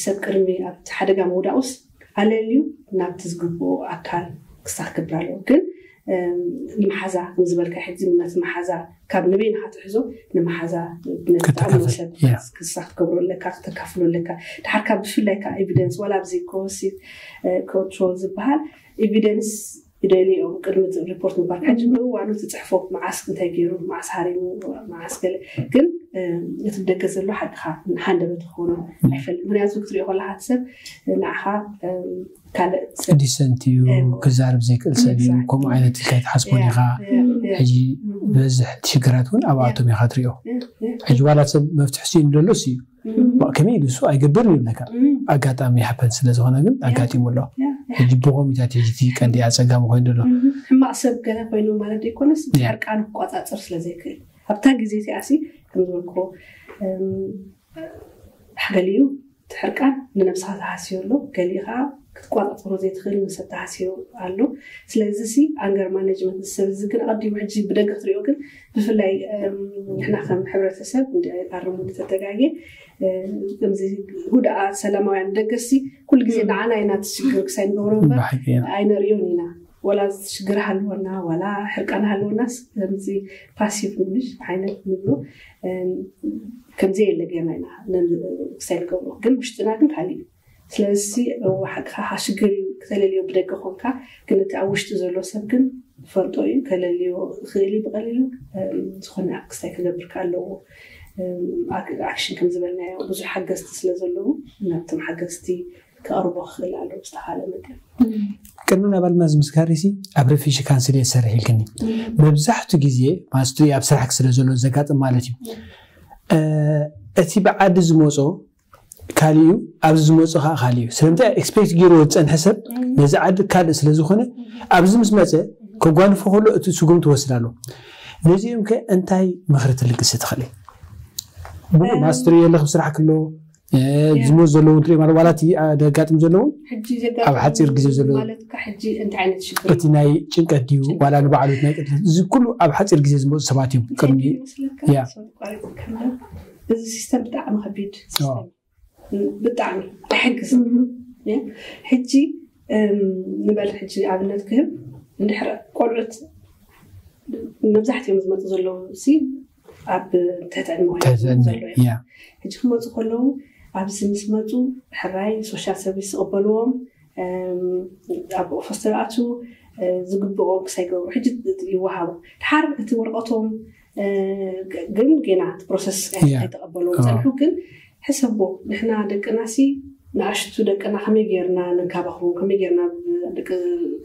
ሰብ ቅድሚ ኣብቲ ሓደጋ ምውዳኡስ ኣለልዩ ናብቲ ዝግብኦ ኣካል ክሳክ ክብር ኣለዎ ግን ንመሓዛ ከምዝበልካ ሕጂ ነቲ መሓዛ ካብ ንበይንካ ትሕዞ ንመሓዛ ነቲ ዝጠዓሞ ሰብ ክሳክ ትገብሮ ኣለካ ክተካፍሎ ኣለካ ድሓር ካብ ብፍላይ ከዓ ኤቪደንስ ዋላ ኣብዚ ኮሲ ኮንትሮል ዝበሃል ኤቪደንስ ይደልዮም ቅድሚ ሪፖርት ምግባር ሕጂ ብእዋኑ ትፅሕፎ መዓስ እንታይ ገይሩ መዓስ ሃሪሙ መዓስ ገለ ግን እቲ ደገ ዘሎ ሓቅኻ ሃንደበት ክኾኑ ኣይፈልጥ ምክንያቱ ክትሪኦ ከለካ እቲ ሰብ ንዓኻ ካልእ ሰብ ዲሰንት እዩ ክዛረብ ዘይክእል ሰብ እዩ ከምኡ ዓይነት ከይትሓስቦን ኢኻ ሕጂ ዝበዝሕ ሽግራት እውን ኣብኣቶም ኢኻ ትሪኦ ሕጂ ዋላ ሰብ መፍትሒ ስኢኑ ደሎስ እዩ ከመይ ኢሉ እሱ ኣይገብርን ይብለካ ኣጋጣሚ ይሓፈን ስለ ዝኾነ ግን ኣጋጢሙ ኣሎ ሕጂ ብኮሚታት ሕጂ እቲ ቀንዲ ኣፀጋሚ ኮይኑ ዘሎ ሕማቕ ሰብ ገለ ኮይኑ ማለት ዘይኮነስ ሕርቃኑ ክቆፃፀር ስለ ዘይክእል ኣብታ ግዜ እቲኣሲ ከም ዝበልክዎ ሓገሊኡ እቲ ሕርቃን ንነብስኻ ዝሃስዮ ኣሎ ገሊኡ ከዓ ክትቆፃፀሮ ዘይትኽእል ንሰብ ተሃስዮ ኣሎ ስለዚ ሲ ኣንገር ማኔጅመንት ሰብ እዚ ግን ኣቐዲሙ ሕጂ ብደገ ክትሪኦ ግን ብፍላይ ንሕና ከም ሕብረተሰብ ኣርሙ ንተተጋጌ ከምዚ ሁድኣ ሰላማውያን ደገሲ ኩሉ ግዜ ንዓና ኢና ትሽግር ክሳይ ንገብሮ እምበር ኣይነርእዮን ኢና ወላ ሽግር ሃልወና ወላ ሕርቃን ሃልወናስ ከምዚ ፓሲቭ ምሽ ዓይነት ንብሎ ከምዚ የለ ጌርና ኢና ክሳይ ንገብሮ ግን ውሽጥና ግን ካሊእ እዩ ስለዚ ሓቅኻ ሽግር እዩ ክተለልዮ ብደገ ኮንካ ግን እቲ ኣብ ውሽጢ ዘሎ ሰብ ግን ፈልጦ እዩ ከለልዮ ክእል እዩ ብቀሊሉ ዝኾነ ክስታይ ክገብር ኣለዎ ኣክሽን ከም ዝበልናዮ ብዙሕ ሓገዝቲ ስለ ዘለዉ ናብቶም ሓገዝቲ ክቐርቦ ክኽእል ኣለዎ ዝተኻለ መጠን ቅድሚ ናባልና ዝምስጋር ሲ ኣብ ሪፊጂ ካንስል እየ ዝሰርሕ ኢልክኒ። መብዛሕቱ ግዜ ማስትሪ ኣብ ስራሕክ ስለ ዘሎ ዘጋጥም ማለት እዩ። እ፣ እቲ ብዓዲ ዝመጾ ካልእ እዩ፣ ኣብዚ ዝመጾ ከዓ ካልእ እዩ። ስለምንታይ ኤክስፔክት ገይርዎ ዝጸንሐ ሰብ ነዚ ዓዲ ካልእ ስለ ዝኾነ ኣብዚ ምስ መጸ ከጓንፎ ከሎ እቲ ስጉምቲ ወስድ ኣሎ። ነዚኦም ከ እንታይ ምኽሪ ትልግሲ ትኽእሊ? ብኡ ማስትሪ የለ ክብ ስራሕ ክሎ ዝሞት ዘለውን ትርኢ ማለት ዋላ እቲ ደጋጥም ዘለውን ሕጂ ኣብ ሓፂር ግዜ ዘሎ ማለት ከ ሕጂ እንታይ ዓይነት ሽግር እቲ ናይ ጭንቀት ድዩ ዋላ ንባዕሉ ናይ ቅድለት እዚ ኩሉ ኣብ ሓፂር ግዜ ዝመፁ ሰባት እዮም። ቅድሚ ይመስለካ ያ። ሶሪ፣ ቋሪጥ ከማን። እዚ ሲስተም ብጣዕሚ ከቢድ ሲስተም ብጣዕሚ ኣይሕግዝ። ሕጂ እም፣ ንበል ሕጂ ኣብነት ክህብ እንድሕር ቆልዑት መብዛሕትኦም ዝመፁ ዘለዉ ሲ ኣብ ትሕቲ ዕድመ ኮይኖም ትሕቲ ዕድመ፣ ዘለዉ እዮም። ያ። ሕጂ ክመፁ ከለዉ ኣብዚ ምስ መፁ ሕራይ ሶሻል ሰርቪስ ዝቕበልዎም እም፣ ኣብ ፎስተር ኣቱ ዝግብኦም ክሳይገብሩ ሕጂ ይወሃቡ። ድሓር እቲ ወረቐቶም እ፣ ግ- ግን ጌና እቲ ፕሮሰስ ያ። ኣይተቐበልዎም ኦ። ፀንሑ። ግን ሕሰቦ ንሕና ደቅና ሲ ንኣሽቱ ደቅና ከመይ ጌርና ንንካባኽቦም ከመይ ጌርና ብ- ደቂ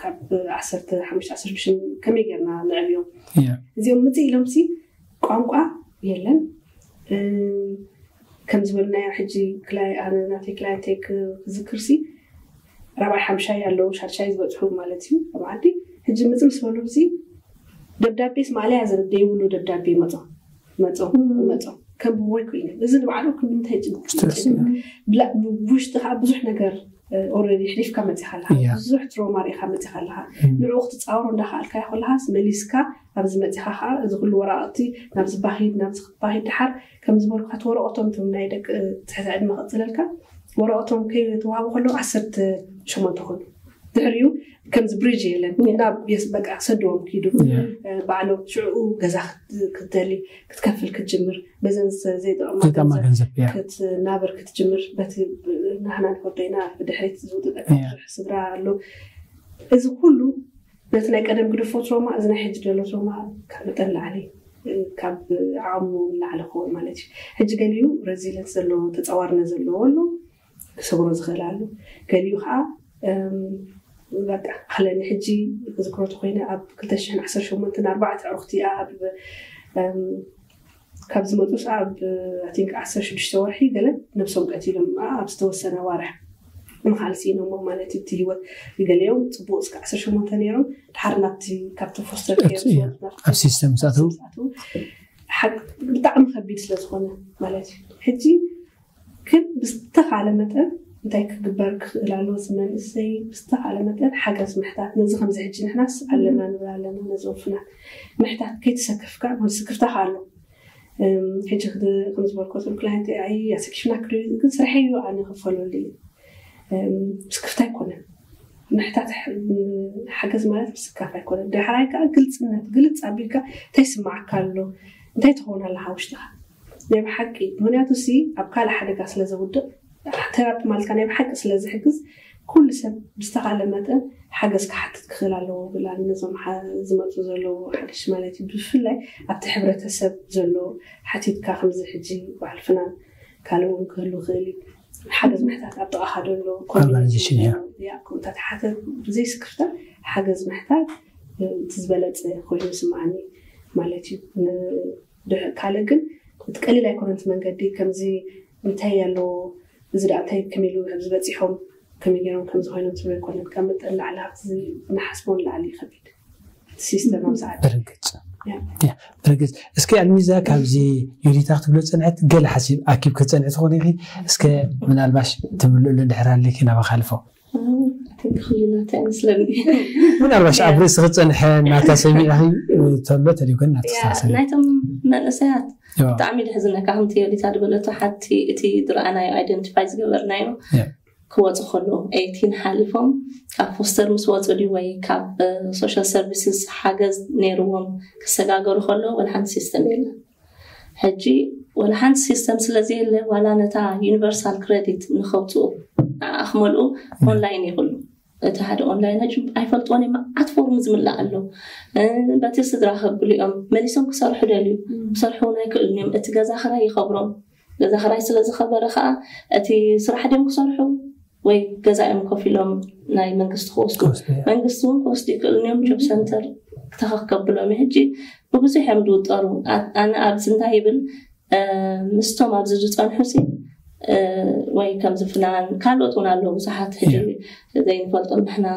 ካብ ዓሰርተ ሓሙሽተ ዓሰርተ ሽዱሽተ ከመይ ጌርና ንዕብዮም ያ። እዚኦም ምፅእ ኢሎም ሲ ቋንቋ የለን። እ፣ ከም ዝበልናዮ ሕጂ ክላይ ኣነ ናተይ ክላይንተይ ክዝክር ሲ ራብዓይ ሓምሻይ ኣለዉ ሻድሻይ ዝበፅሑ ማለት እዩ ኣብ ዓዲ። ሕጂ ምፅእ ምስ በሉ ሲ ደብዳቤ ስ ማእለያ ዘረብ ዘይብሉ ደብዳቤ መፆ መፆ መፆ ከም ብወይ ኮይኑ እዚ ንባዕሉ ክንምንታይ ጭንቅ ስትረስ ብላ- ብ- ብውሽጢ ከዓ ብዙሕ ነገር ኦረዲ ሕሊፍካ መፂኻ ኣለካ ያ። ብዙሕ ትሮማ ርኢኻ መፂኻ ኣለካ ንዕኡ ክትፃወሮ እንዳኸኣልካ ከለኻስ መሊስካ ኣብዚ መፂኻ ከዓ እዚ ኩሉ ወረቃቅቲ ናብዚ ባሂድ ናብዚ ክትባሂድ ድሓር ከም ዝበልኩካ እቲ ወረቀቶም እቶም ናይ ደቂ ትሕቲ ዕድመ ክፅለልካ ወረቀቶም ከይተዋሃቡ ከለዉ ዓሰርተ ሸሞንተ ኮይኑ ድሕሪኡ ከምዚ ብሪጅ የለን ናብ የስ በቃ ሰድዎም ኪዱ ያ። ባዕሎም ሽዕኡ ገዛ ክት- ክትደሊ ክትከፍል ክትጅምር በዘን ዘ- ዘይጠቕማ ዘይጠማ ገንዘብ ገንዘብ ያ። ክትናበር ክትጅምር በቲ ናህና ንፈርዶ ኢና ብድሕሪት ዝውጥጠካ ያ። ብዙሕ ስድራ ኣሎ እዚ ኩሉ ነቲ ናይ ቀደም ግድፎ ትሮማ እዚ ናይ ሕጂ ዘሎ ትሮማ ካብ መጠን ላዕሊ እ፣ ካብ ዓቕሙ ላዕሊ ክኸውን ማለት እዩ ሕጂ ገሊኡ ረዚለንስ ዘለዎ ተፃዋርነት ዘለዎ ኣሎ ክሰብሮ ዝኽእል ኣሎ ገሊኡ ከዓ እም፣ በቃ ኣለኒ ሕጂ ክዝክሮ ተኮይነ ኣብ ክልተ ሽሕን ዓሰርተ ሸሞንተን ኣርባዕተ ዕሩኽቲ ኣብ እም፣ ካብ ዝመፁ ሰ ኣብ ቲንክ ዓሰርተ ሽዱሽተ ወርሒ ገለ ነብሶም ቀቲሎም ኣብ ዝተወሰነ ዋርሕ ንካል ስኢኖሞ ማለት እዩ እቲ ህይወት ገሊኦም ፅቡቅ እስከ ዓሰርተ ሸሞንተ ነይሮም ድሓር ናብቲ ካብቲ ፎስተር ኬር እቱ እዩ። ኣብ ሲስተም ዝኣተው ብጣዕሚ ከቢድ ስለዝኮነ ማለት እዩ ሕጂ ግን ብዝተካለ መጠን እንታይ ክግበር ክኽእል ኣለዎ እዚ መንእሰይ ብዝተካለ መጠን ሓገዝ ምሕታት ነዚ ከምዚ ሕጂ ንሕናስ ኣለና ንብል ኣለና ነዚ ወፍናት ምሕታት ከይተሰከፍካ ስክፍታ ኣሎ ሕጂ ከም ዝበልኮ ቶም ክላይንት ኣይ ኣሰኪፍና ክደ ግን ስርሐይ እዩ ኣነ ክፈለሉ እዩ ስክፍታ ኣይኮነን ምሕታት ሓገዝ ማለት ምስካፍ ኣይኮነን ዳሕራይ ከዓ ግልፅነት ግልፅ ኣቢልካ እንታይ ስማዓካ ኣሎ እንታይ ትኸውን ኣለካ ውሽጥካ ናይ ብሓቂ ምክንያቱ ሲ ኣብ ካልእ ሓደጋ ስለ ዘውድቕ ቴራፒ ማለትካ ናይ ብሓቂ ስለ ዝሕግዝ ኩሉ ሰብ ብዝተኻለ መጠን ሓገዝ ክሓትት ክኽእል ኣለዎ ብላ ነዞም ዝመፁ ዘለዉ ሓደሽ ማለት እዩ ብፍላይ ኣብቲ ሕብረተሰብ ዘሎ ሓቲትካ ከምዚ ሕጂ በዓል ፍናን ካልእ እውን ክህሉ ክእል እዩ ሓገዝ ምሕታት ኣብ ጥቓኻ ዘሎ ኦርጋናይዜሽን እያ ከምኡታት ሓተ ብዘይስክፍታ ሓገዝ ምሕታት እቲ ዝበለፀ ኮይኑ ስምዓኒ ማለት እዩ ካልእ ግን እቲ ቀሊል ኣይኮነን እቲ መንገዲ ከምዚ እንታይ ኣለዎ እዚ ደኣ እንታይ ከመይ ኢሉ ኣብዚ በፂሖም ከመይ ገይሮም ከምዚ ኮይኖም ትብሎ ኣይኮነን ካብ መጠን ላዕሊ ኣብቲ ንሓስቦ ንላዕሊ ይኸቢድ እቲ ሲስተም ኣብዚ ዓዲ ብርግፅ ብርግፅ እስኪ ኣልሚዛ ካብዚ ዮዲታ ክትብሎ ፀንሐት ገለ ሓሲብ ኣኪብ ክትፀንሒ ትኾነ ኢኺ እስከ ምናልባሽ ትምልእሉ እንድሕር ኣለኪ ናባኻ ኣልፎ ክልላታ ይመስለኒ ምናልባሽ ኣብ ርእሲ ክፀንሐ እናታ ሰሚዕኺ ተሎ ተሪጎን እናተስተሳሰብ ናይቶም መንእሰያት ብጣዕሚ ደሕዝነካ ከምቲ ዮዲታ ዝበለቶ ሓቲ እቲ ዝረኣናዮ ኣይደንቲፋይ ዝገበርናዮ ክወፁ ከለዉ ኤይቲን ሓሊፎም ካብ ፎስተር ምስ ወፁ ድዩ ወይ ካብ ሶሻል ሰርቪስስ ሓገዝ ነይርዎም ክሰጋገሩ ከለዉ ወላ ሓንቲ ሲስተም የለን ሕጂ ወላ ሓንቲ ሲስተም ስለዘየለ ዋላ ነታ ዩኒቨርሳል ክረዲት ንኸውፅኡ ንዓ ክመልኡ ኦንላይን ይኽሉ እቲ ሓደ ኦንላይን ሕጂ ኣይፈልጥዎን እዮም መዓት ፎርም ዝምላእ ኣሎ በቲ ስድራ ከብሉ እዮም መሊሶም ክሰርሑ ደልዩ ክሰርሑ እውን ኣይክእሉን እዮም እቲ ገዛ ክራይ ይኸብሮም ገዛ ክራይ ስለ ዝኸበረ ከዓ እቲ ስራሕ ድዮም ክሰርሑ ወይ ገዛኦም ኮፍ ኢሎም ናይ መንግስቲ ክወስዱ መንግስቲ እውን ክወስዱ ይክእሉ እዮም። ጆብ ሰንተር ክተኸከብሎም ሕጂ ብብዙሕ እዮም ዝውጠሩ። ኣነ ኣብዚ እንታይ ይብል ምስቶም ኣብዚ ዝፀንሑ ሲ ወይ ከምዚ ፍናን ካልኦት እውን ኣለዉ ብዙሓት ሕጂ ዘይንፈልጦም ንሕና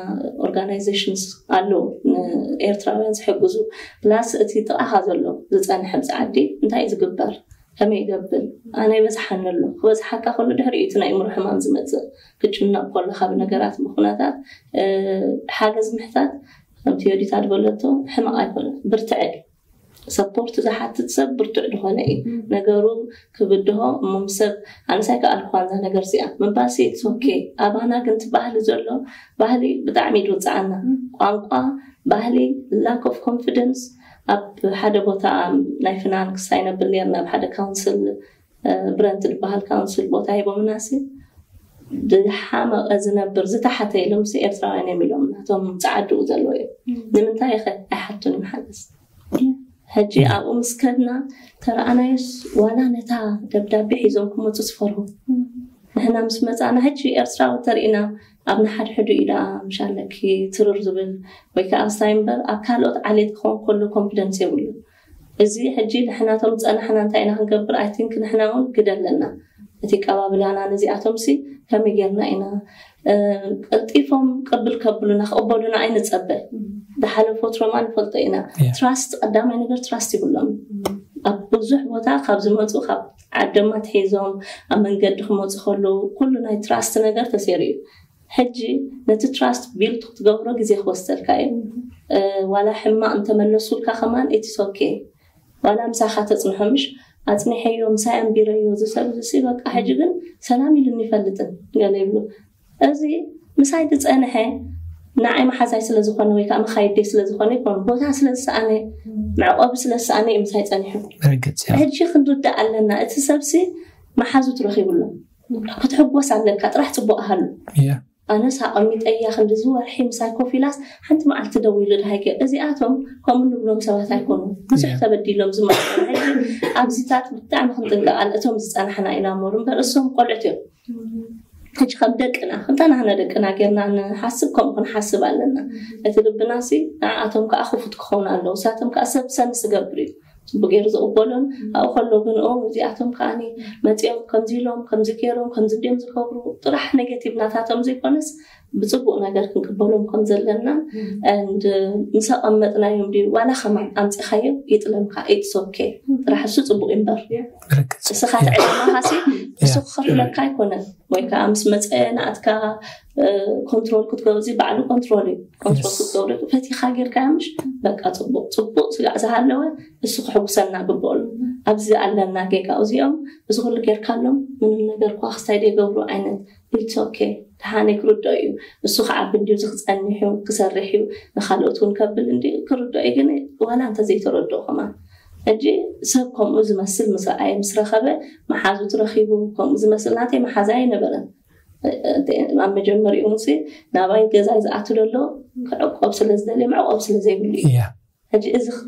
ኦርጋናይዜሽንስ ኣለዉ ኤርትራውያን ዝሕግዙ ፕላስ እቲ ጥቓኻ ዘሎ ዝፀንሐ ኣብዚ ዓዲ እንታይ ዝግበር ከመይ ይገብር ኣነ ይበዝሓኒ ኣሎ ክበዝሓካ ከሎ ድሕሪ እቲ ናይ እምሮ ሕማም ዝመፅእ ክጭነቕ ከሎ ካብ ነገራት ምኩነታት ሓገዝ ምሕታት ከምቲ ዮዲታ ዝበለቶ ሕማቕ ኣይኮነ ብርትዐ ሰፖርት ዝሓትት ሰብ ብርቱዕ ዝኾነ እዩ ነገሩ ክብድሆ እሞም ሰብ ኣነሳይ ከኣልኳ እዛ ነገር እዚኣ ምባሲ ኦኬ ኣባና ግን ትባህሊ ዘሎ ባህሊ ብጣዕሚ ይድውፅዓና ቋንቋ ባህሊ lack of confidence ኣብ ሓደ ቦታ ናይ ፍናን ክሳይ ነብል ነርና ኣብ ሓደ ካውንስል ብረንት ዝበሃል ካውንስል ቦታ ሂቦምና ሲ ዝሓመቐ ዝነብር ዝተሓተ ኢሎም ሲ ኤርትራውያን እዮም ኢሎም ናቶም ፃዓድኡ ዘለዎ እዮም ንምንታይ ኸ ኣይሓቱን እዮም ሓገዝ ሕጂ ኣብኡ ምስ ከድና ተረኣናዮስ ዋላ ነታ ደብዳቤ ሒዞም ክመፁ ዝፈርሁ ንሕና ምስ መፃና ሕጂ ኤርትራዊ ተርእና ኣብ ንሓድሕዱ ኢዳ ምሻለኪ ትርር ዝብል ወይ ከዓ እንታይ እምበር ኣብ ካልኦት ዓሌት ክኾን ከሎ ኮንፊደንስ የብሉ እዚ ሕጂ ንሕናቶም ዝፀናሕና እንታይ ኢና ክንገብር ኣይ ቲንክ ንሕና እውን ግደ ኣለና እቲ ቀባብላና ነዚኣቶም ሲ ከመይ ጌርና ኢና ቀልጢፎም ቅብል ከብሉና ክቕበሉና ኣይንፀበ ዝሓለፎ ትሮማ ንፈልጦ ኢና ትራስት ቀዳማይ ነገር ትራስት ይብሎም ኣብ ብዙሕ ቦታ ካብ ዝመፁ ካብ ዓደማ ትሒዞም ኣብ መንገዲ ክመፁ ከለዉ ኩሉ ናይ ትራስት ነገር ተሰይሩ እዩ ሕጂ ነቲ ትራስት ቢልድ ክትገብሮ ግዜ ክወስደልካ እዩ ዋላ ሕማቕ እንተመለሱልካ ከማን ኢትስ ኦኬ ዋላ ምሳኻ ተፅንሖ ምሽ ኣፅኒሐዮ ምሳይ ኣንቢረዮ ዝሰብ ዝሲ በቃ ሕጂ ግን ሰላም ኢሉኒ ይፈልጥን ገለ ይብሉ እዚ ምሳይ ዝፀንሐ ንዓይ መሓዛይ ስለ ዝኾነ ወይ ከዓ መኻይደይ ስለ ዝኾነ ይኮኑ ቦታ ስለ ዝሰኣነ መዕቆቢ ስለ ዝሰኣነ እዩ ምሳይ ፀኒሑ ሕጂ ክንርዳእ ኣለና እቲ ሰብሲ መሓዙ ትረኺቡሎ ክትሕጎስ ኣለካ ጥራሕ ፅቡቅ ኣሃሉ ኣነስ ኣቐሚጠያ ክንዲ ዝወርሒ ምሳይ ኮፍ ኢላስ ሓንቲ መዓልቲ ደው ኢሉ ድሃይገ እዚኣቶም ከምኡ ንብሎም ሰባት ኣይኮኑ ብዙሕ ተበዲሎም ዝመፅኦም ሕጂ ኣብዚታት ብጣዕሚ ክንጥንቀቃል እቶም ዝፀናሕና ኢና እምበር እሶም ቆልዑት እዮም ሕጂ ከም ደቅና ክንተናህነ ደቅና ጌርና ንሓስብ ከምኡ ክንሓስብ ኣለና እቲ ልብና ሲ ንዓኣቶም ከዓ ክፉት ክኸውን ኣለዉ እሳቶም ከዓ ሰብ ሰንስ ዝገብር እዩ ፅቡቅ ገይሩ ዝቕበሎን ኣብኡ ከሎ ግን ኦ እዚኣቶም ከዓኒ መፂኦም ከምዚ ኢሎም ከምዚ ገይሮም ከምዚ እንዲዮም ዝገብሩ ጥራሕ ኔጌቲቭ ናታቶም ዘይኮነስ ብፅቡቅ ነገር ክንቅበሎም ከም ዘለና and ምስ ኣቐመጥናዮም ድዩ ዋላ ከማን ኣምፂኻዮ ይጥለምካ it's okay ጥራሕ እሱ ፅቡቅ እምበር እስኻ ትዕለማኻሲ እሱ ክኸፍለካ ኣይኮነን ወይ ከዓ ምስ መፀ ንኣትካ ኮንትሮል ክትገብዚ ባዕሉ ኮንትሮል እዩ ኮንትሮል ክትገብሪ ፈቲኻ ጌርካ ምሽ በቃ ፅቡቅ ፅቡቅ ስጋዕ ዝሃለወ እሱ ክሕጉሰና ግበሉ ኣብዚ ኣለና ጌጋ እዚኦም እዚ ኩሉ ጌርካሎም ምንም ነገር ኳ ክስታይ ዘይገብሩ ዓይነት it's okay ደሓነይ ክርድኦ እዩ እሱ ክዓቢ እንድዩ እዚ ክፀንሕ እዩ ክሰርሕ እዩ ንካልኦት እውን ከብል እንዲ ክርድኦ እዩ ግን ዋላ እንተዘይተረድኦ ከማን ሕጂ ሰብ ከምኡ ዝመስል ምስ ረኣየ ምስ ረኸበ መሓዙት ረኺቡ ከምኡ ዝመስል ናተይ መሓዛ ኣይነበረን ኣብ መጀመሪኡ እውን ናባይ ገዛይ ዝኣቱ ዘሎ ክዕቆብ ስለ ዝደልየ መዕቆብ ስለ ዘይብሉ እዩ ሕጂ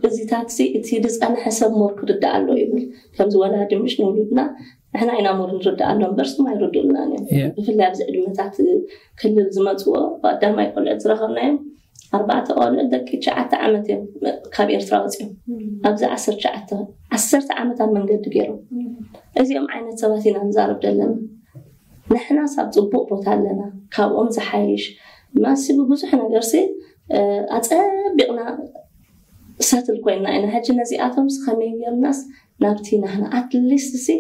እዚታት እቲ ዝፀንሐ ሰብ ሞር ክርዳእ ኣሎ ይብል ከምዚ ወላዲ ምሽ ንውሉድና ንሕና ኢና ሞር ንርዳእ ኣሎ እምበር ስም ኣይርድኡልናን እዮም ብፍላይ ኣብዚ ዕድመታት ክልል ዝመፅዎ ብኣዳማይ ቆልዑት ዝረኸብናዮም ኣርባዕተ ቆልዑት ደቂ ትሽዓተ ዓመት እዮም ካብ ኤርትራ ወፂኦም ኣብዚ ዓሰርተ ትሽዓተ ዓሰርተ ዓመት ኣብ መንገዲ ገይሮም እዚኦም ዓይነት ሰባት ኢና ንዛረብ ዘለና ንሕናስ ኣብ ፅቡቅ ቦታ ኣለና ካብኦም ዝሓይሽ ማሲ ብብዙሕ ነገርሲ ኣፀቢቕና ሰትል ኮይና ኢና ሕጂ ነዚኣቶምስ ከመይ ጌርናስ ናብቲ ናህና ኣትሊስት ሲ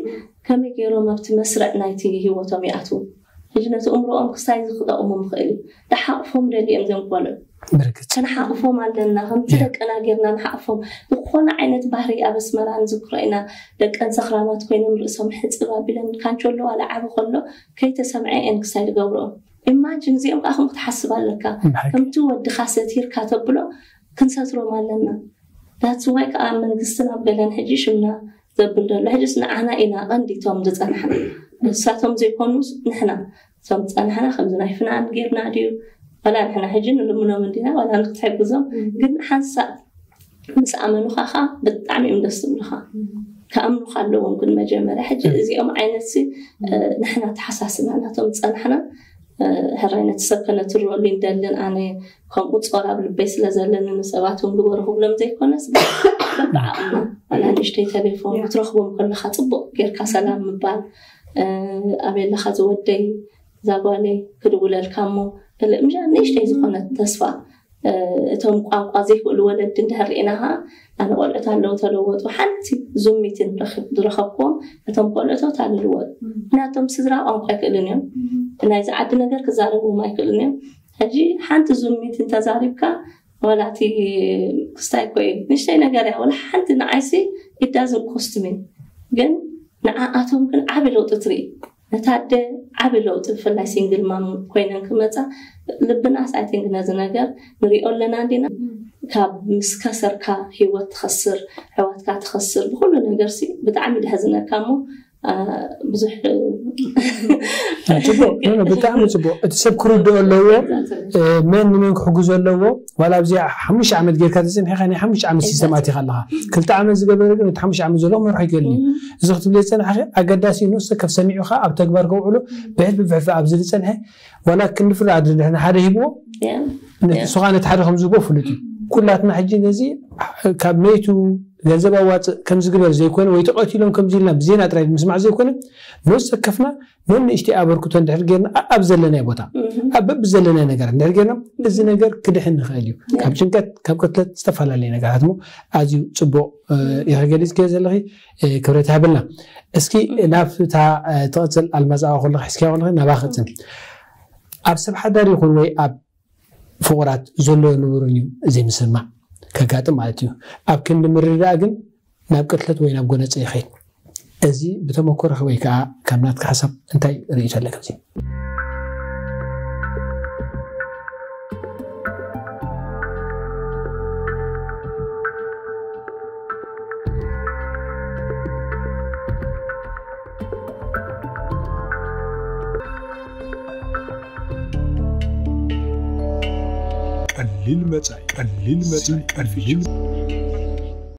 ከመይ ገይሮም ኣብቲ መስርዕ ናይቲ ህይወቶም ይኣትዉ ሕጂ ነቲ እምሮኦም ክሳይ ዝክጠቕሞም ይኽእል እዩ ተሓቕፎም ደልዮም ዘንቆልዑ ክንሓቕፎም ኣለና ከምቲ ደቅና ጌርና ንሓቕፎም ዝኾነ ዓይነት ባህሪ ኣብ ኣስመራ ንዝክሮ ኢና ደቀን ሰኽራማት ኮይኖም ርእሶም ሕፅብ ኣቢለን ካንቸሎ ዋላ ዓቢ ከሎ ከይተሰምዐ እየን ክሳይ ዝገብርኦ ኢማጅን እዚኦም ከዓ ከምኡ ክትሓስብ ኣለካ ከምቲ ወድኻ ሰቲርካ ተብሎ ክንሰትሮም ኣለና that's why ከዓ መንግስትን ኣብ ገለን ሕጂ ሽምና ዘብል ዘሎ ሕጂስ ንዓና ኢና ቀንዲቶም ዝፀናሕና ንሳቶም ዘይኮኑስ ንሕና እቶም ዝፀናሕና ከምዚ ናይ ፍናን ጌርና ድዩ ዋላ ንሕና ሕጂ ንልምኖም እንዲና ዋላ ንክትሕግዞም ግን ሓንሳብ ምስ ኣመኑኻ ከዓ ብጣዕሚ እዮም ደስ ዝብሉኻ ክኣምኑኻ ኣለዎም ግን መጀመርያ ሕጂ እዚኦም ዓይነት ንሕና ተሓሳስና ናቶም ዝፀናሕና ሕራይ ነቲ ሰብ ከነትርበሉ እንደልን ኣነ ከምኡ ጾር ኣብ ልበይ ስለ ዘለኒ ንሰባት እውን ግበሩ ክብሎም ዘይኮነስ በብዓቕምና ዋላ ንእሽተይ ቴሌፎን ክትረኽቦም ከለካ ጽቡቕ ጌርካ ሰላም ምባል ኣበይ ኣለኻ ዝወደይ እዛ ጓለይ ክድውለልካ እሞ ምሻ ንእሽተይ ዝኾነት ተስፋ እቶም ቋንቋ ዘይክእሉ ወለዲ እንድሕር ርኢና ከዓ ኣነ ቆልዑት ኣለዉ ተለወጡ ሓንቲ ዙም ሚቲን ዝረኸብክዎም እቶም ቆልዑት ኣለልወጡ ምክንያቶም ስድራ ቋንቋ ኣይክእልን እዮም ናይዚ ዓዲ ነገር ክዛረብዎም ኣይክእልን እዮም ሕጂ ሓንቲ ዙም ሚቲን ተዛሪብካ ዋላ እቲ ክስታይ ኮይ ንሽተይ ነገር እያ ወላ ሓንቲ ንዓይሲ it doesn't cost me ግን ንዓኣቶም ግን ዓቢ ለውጢ ትርኢ ነታ ኣደ ዓቢ ለውጢ ብፍላይ ሲንግል ማም ኮይነን ክመፃ ልብናስ I think ነዚ ነገር ንሪኦ ኣለና እንዲና ካብ ምስ ከሰርካ ሂወት ትኸስር ሕዋትካ ትኸስር ብኩሉ ነገር ሲ ብጣዕሚ ደሕዝነካ እሞ ብዙሕ ፅቡቅ ብጣዕሚ ፅቡቅ እቲ ሰብ ክርድኦ ኣለዎ መን ንመን ክሕግዞ ኣለዎ ዋላ ኣብዚኣ ሓሙሽተ ዓመት ጌርካ ተፅንሒካ ናይ ሓሙሽተ ዓመት ሲስተም ኣቲካ ኣለካ ክልተ ዓመት ዝገበረ ግን እቲ ሓሙሽተ ዓመት ዘሎ ክመርሖ ይክእል እዩ እዚ ክትብል ዝፀናሕኺ ኣገዳሲ ንሱ ከፍ ሰሚዑካ ኣብ ተግባር ከውዕሎ ብሕልፊ ብሕልፊ ኣብዚ ዝፀንሐ ዋላ ክንዲ ፍርዲ ኣድሪ ድሕሪ ሓደ ሂብዎ ንሱኻ ነቲ ሓደ ከም ዝህቦ ፍሉጥ እዩ ኩላትና ሕጂ ነዚ ካብ መይቱ ገንዘብ ኣዋፅእ ከም ዝግበር ዘይኮነ ወይ ተቐቲሎም ከም ዝልና ብዜና ጥራይ ምስማዕ ዘይኮነ ነሱ ከፍና ነንእሽተይ ኣበርክቶ እንድሕር ጌርና ኣብ ዘለናይ ቦታ ኣብ በብ ዘለናይ ነገር እንድሕር ጌርና እዚ ነገር ክድሕን ንኽእል እዩ ካብ ጭንቀት ካብ ቅትለት ዝተፈላለዩ ነገራት ሞ ኣዝዩ ፅቡቅ ኢኸ ገሊፅክዮ ዘለኺ ክብረት ሃብልና እስኪ ናብታ ትቕፅል ኣልማዝ ኣዋ ከለኺ ሕዝክያ ከለኺ ናባ ክፅል ኣብ ሰብ ሓዳር ይኹን ወይ ኣብ ፍቑራት ዘሎ ንቡርን እዩ ዘይምስምማዕ ከጋጥም ማለት እዩ ኣብ ክንዲ ምርዳእ ግን ናብ ቅትለት ወይ ናብ ጎነፀ ይኸይድ እዚ ብተመኮረኺ ወይ ከዓ ካብ ናትካ ሓሳብ እንታይ ርእይቶ ኣለካ እዚ ቀሊል መጻኢ ቀሊል መጻኢ ቀሊል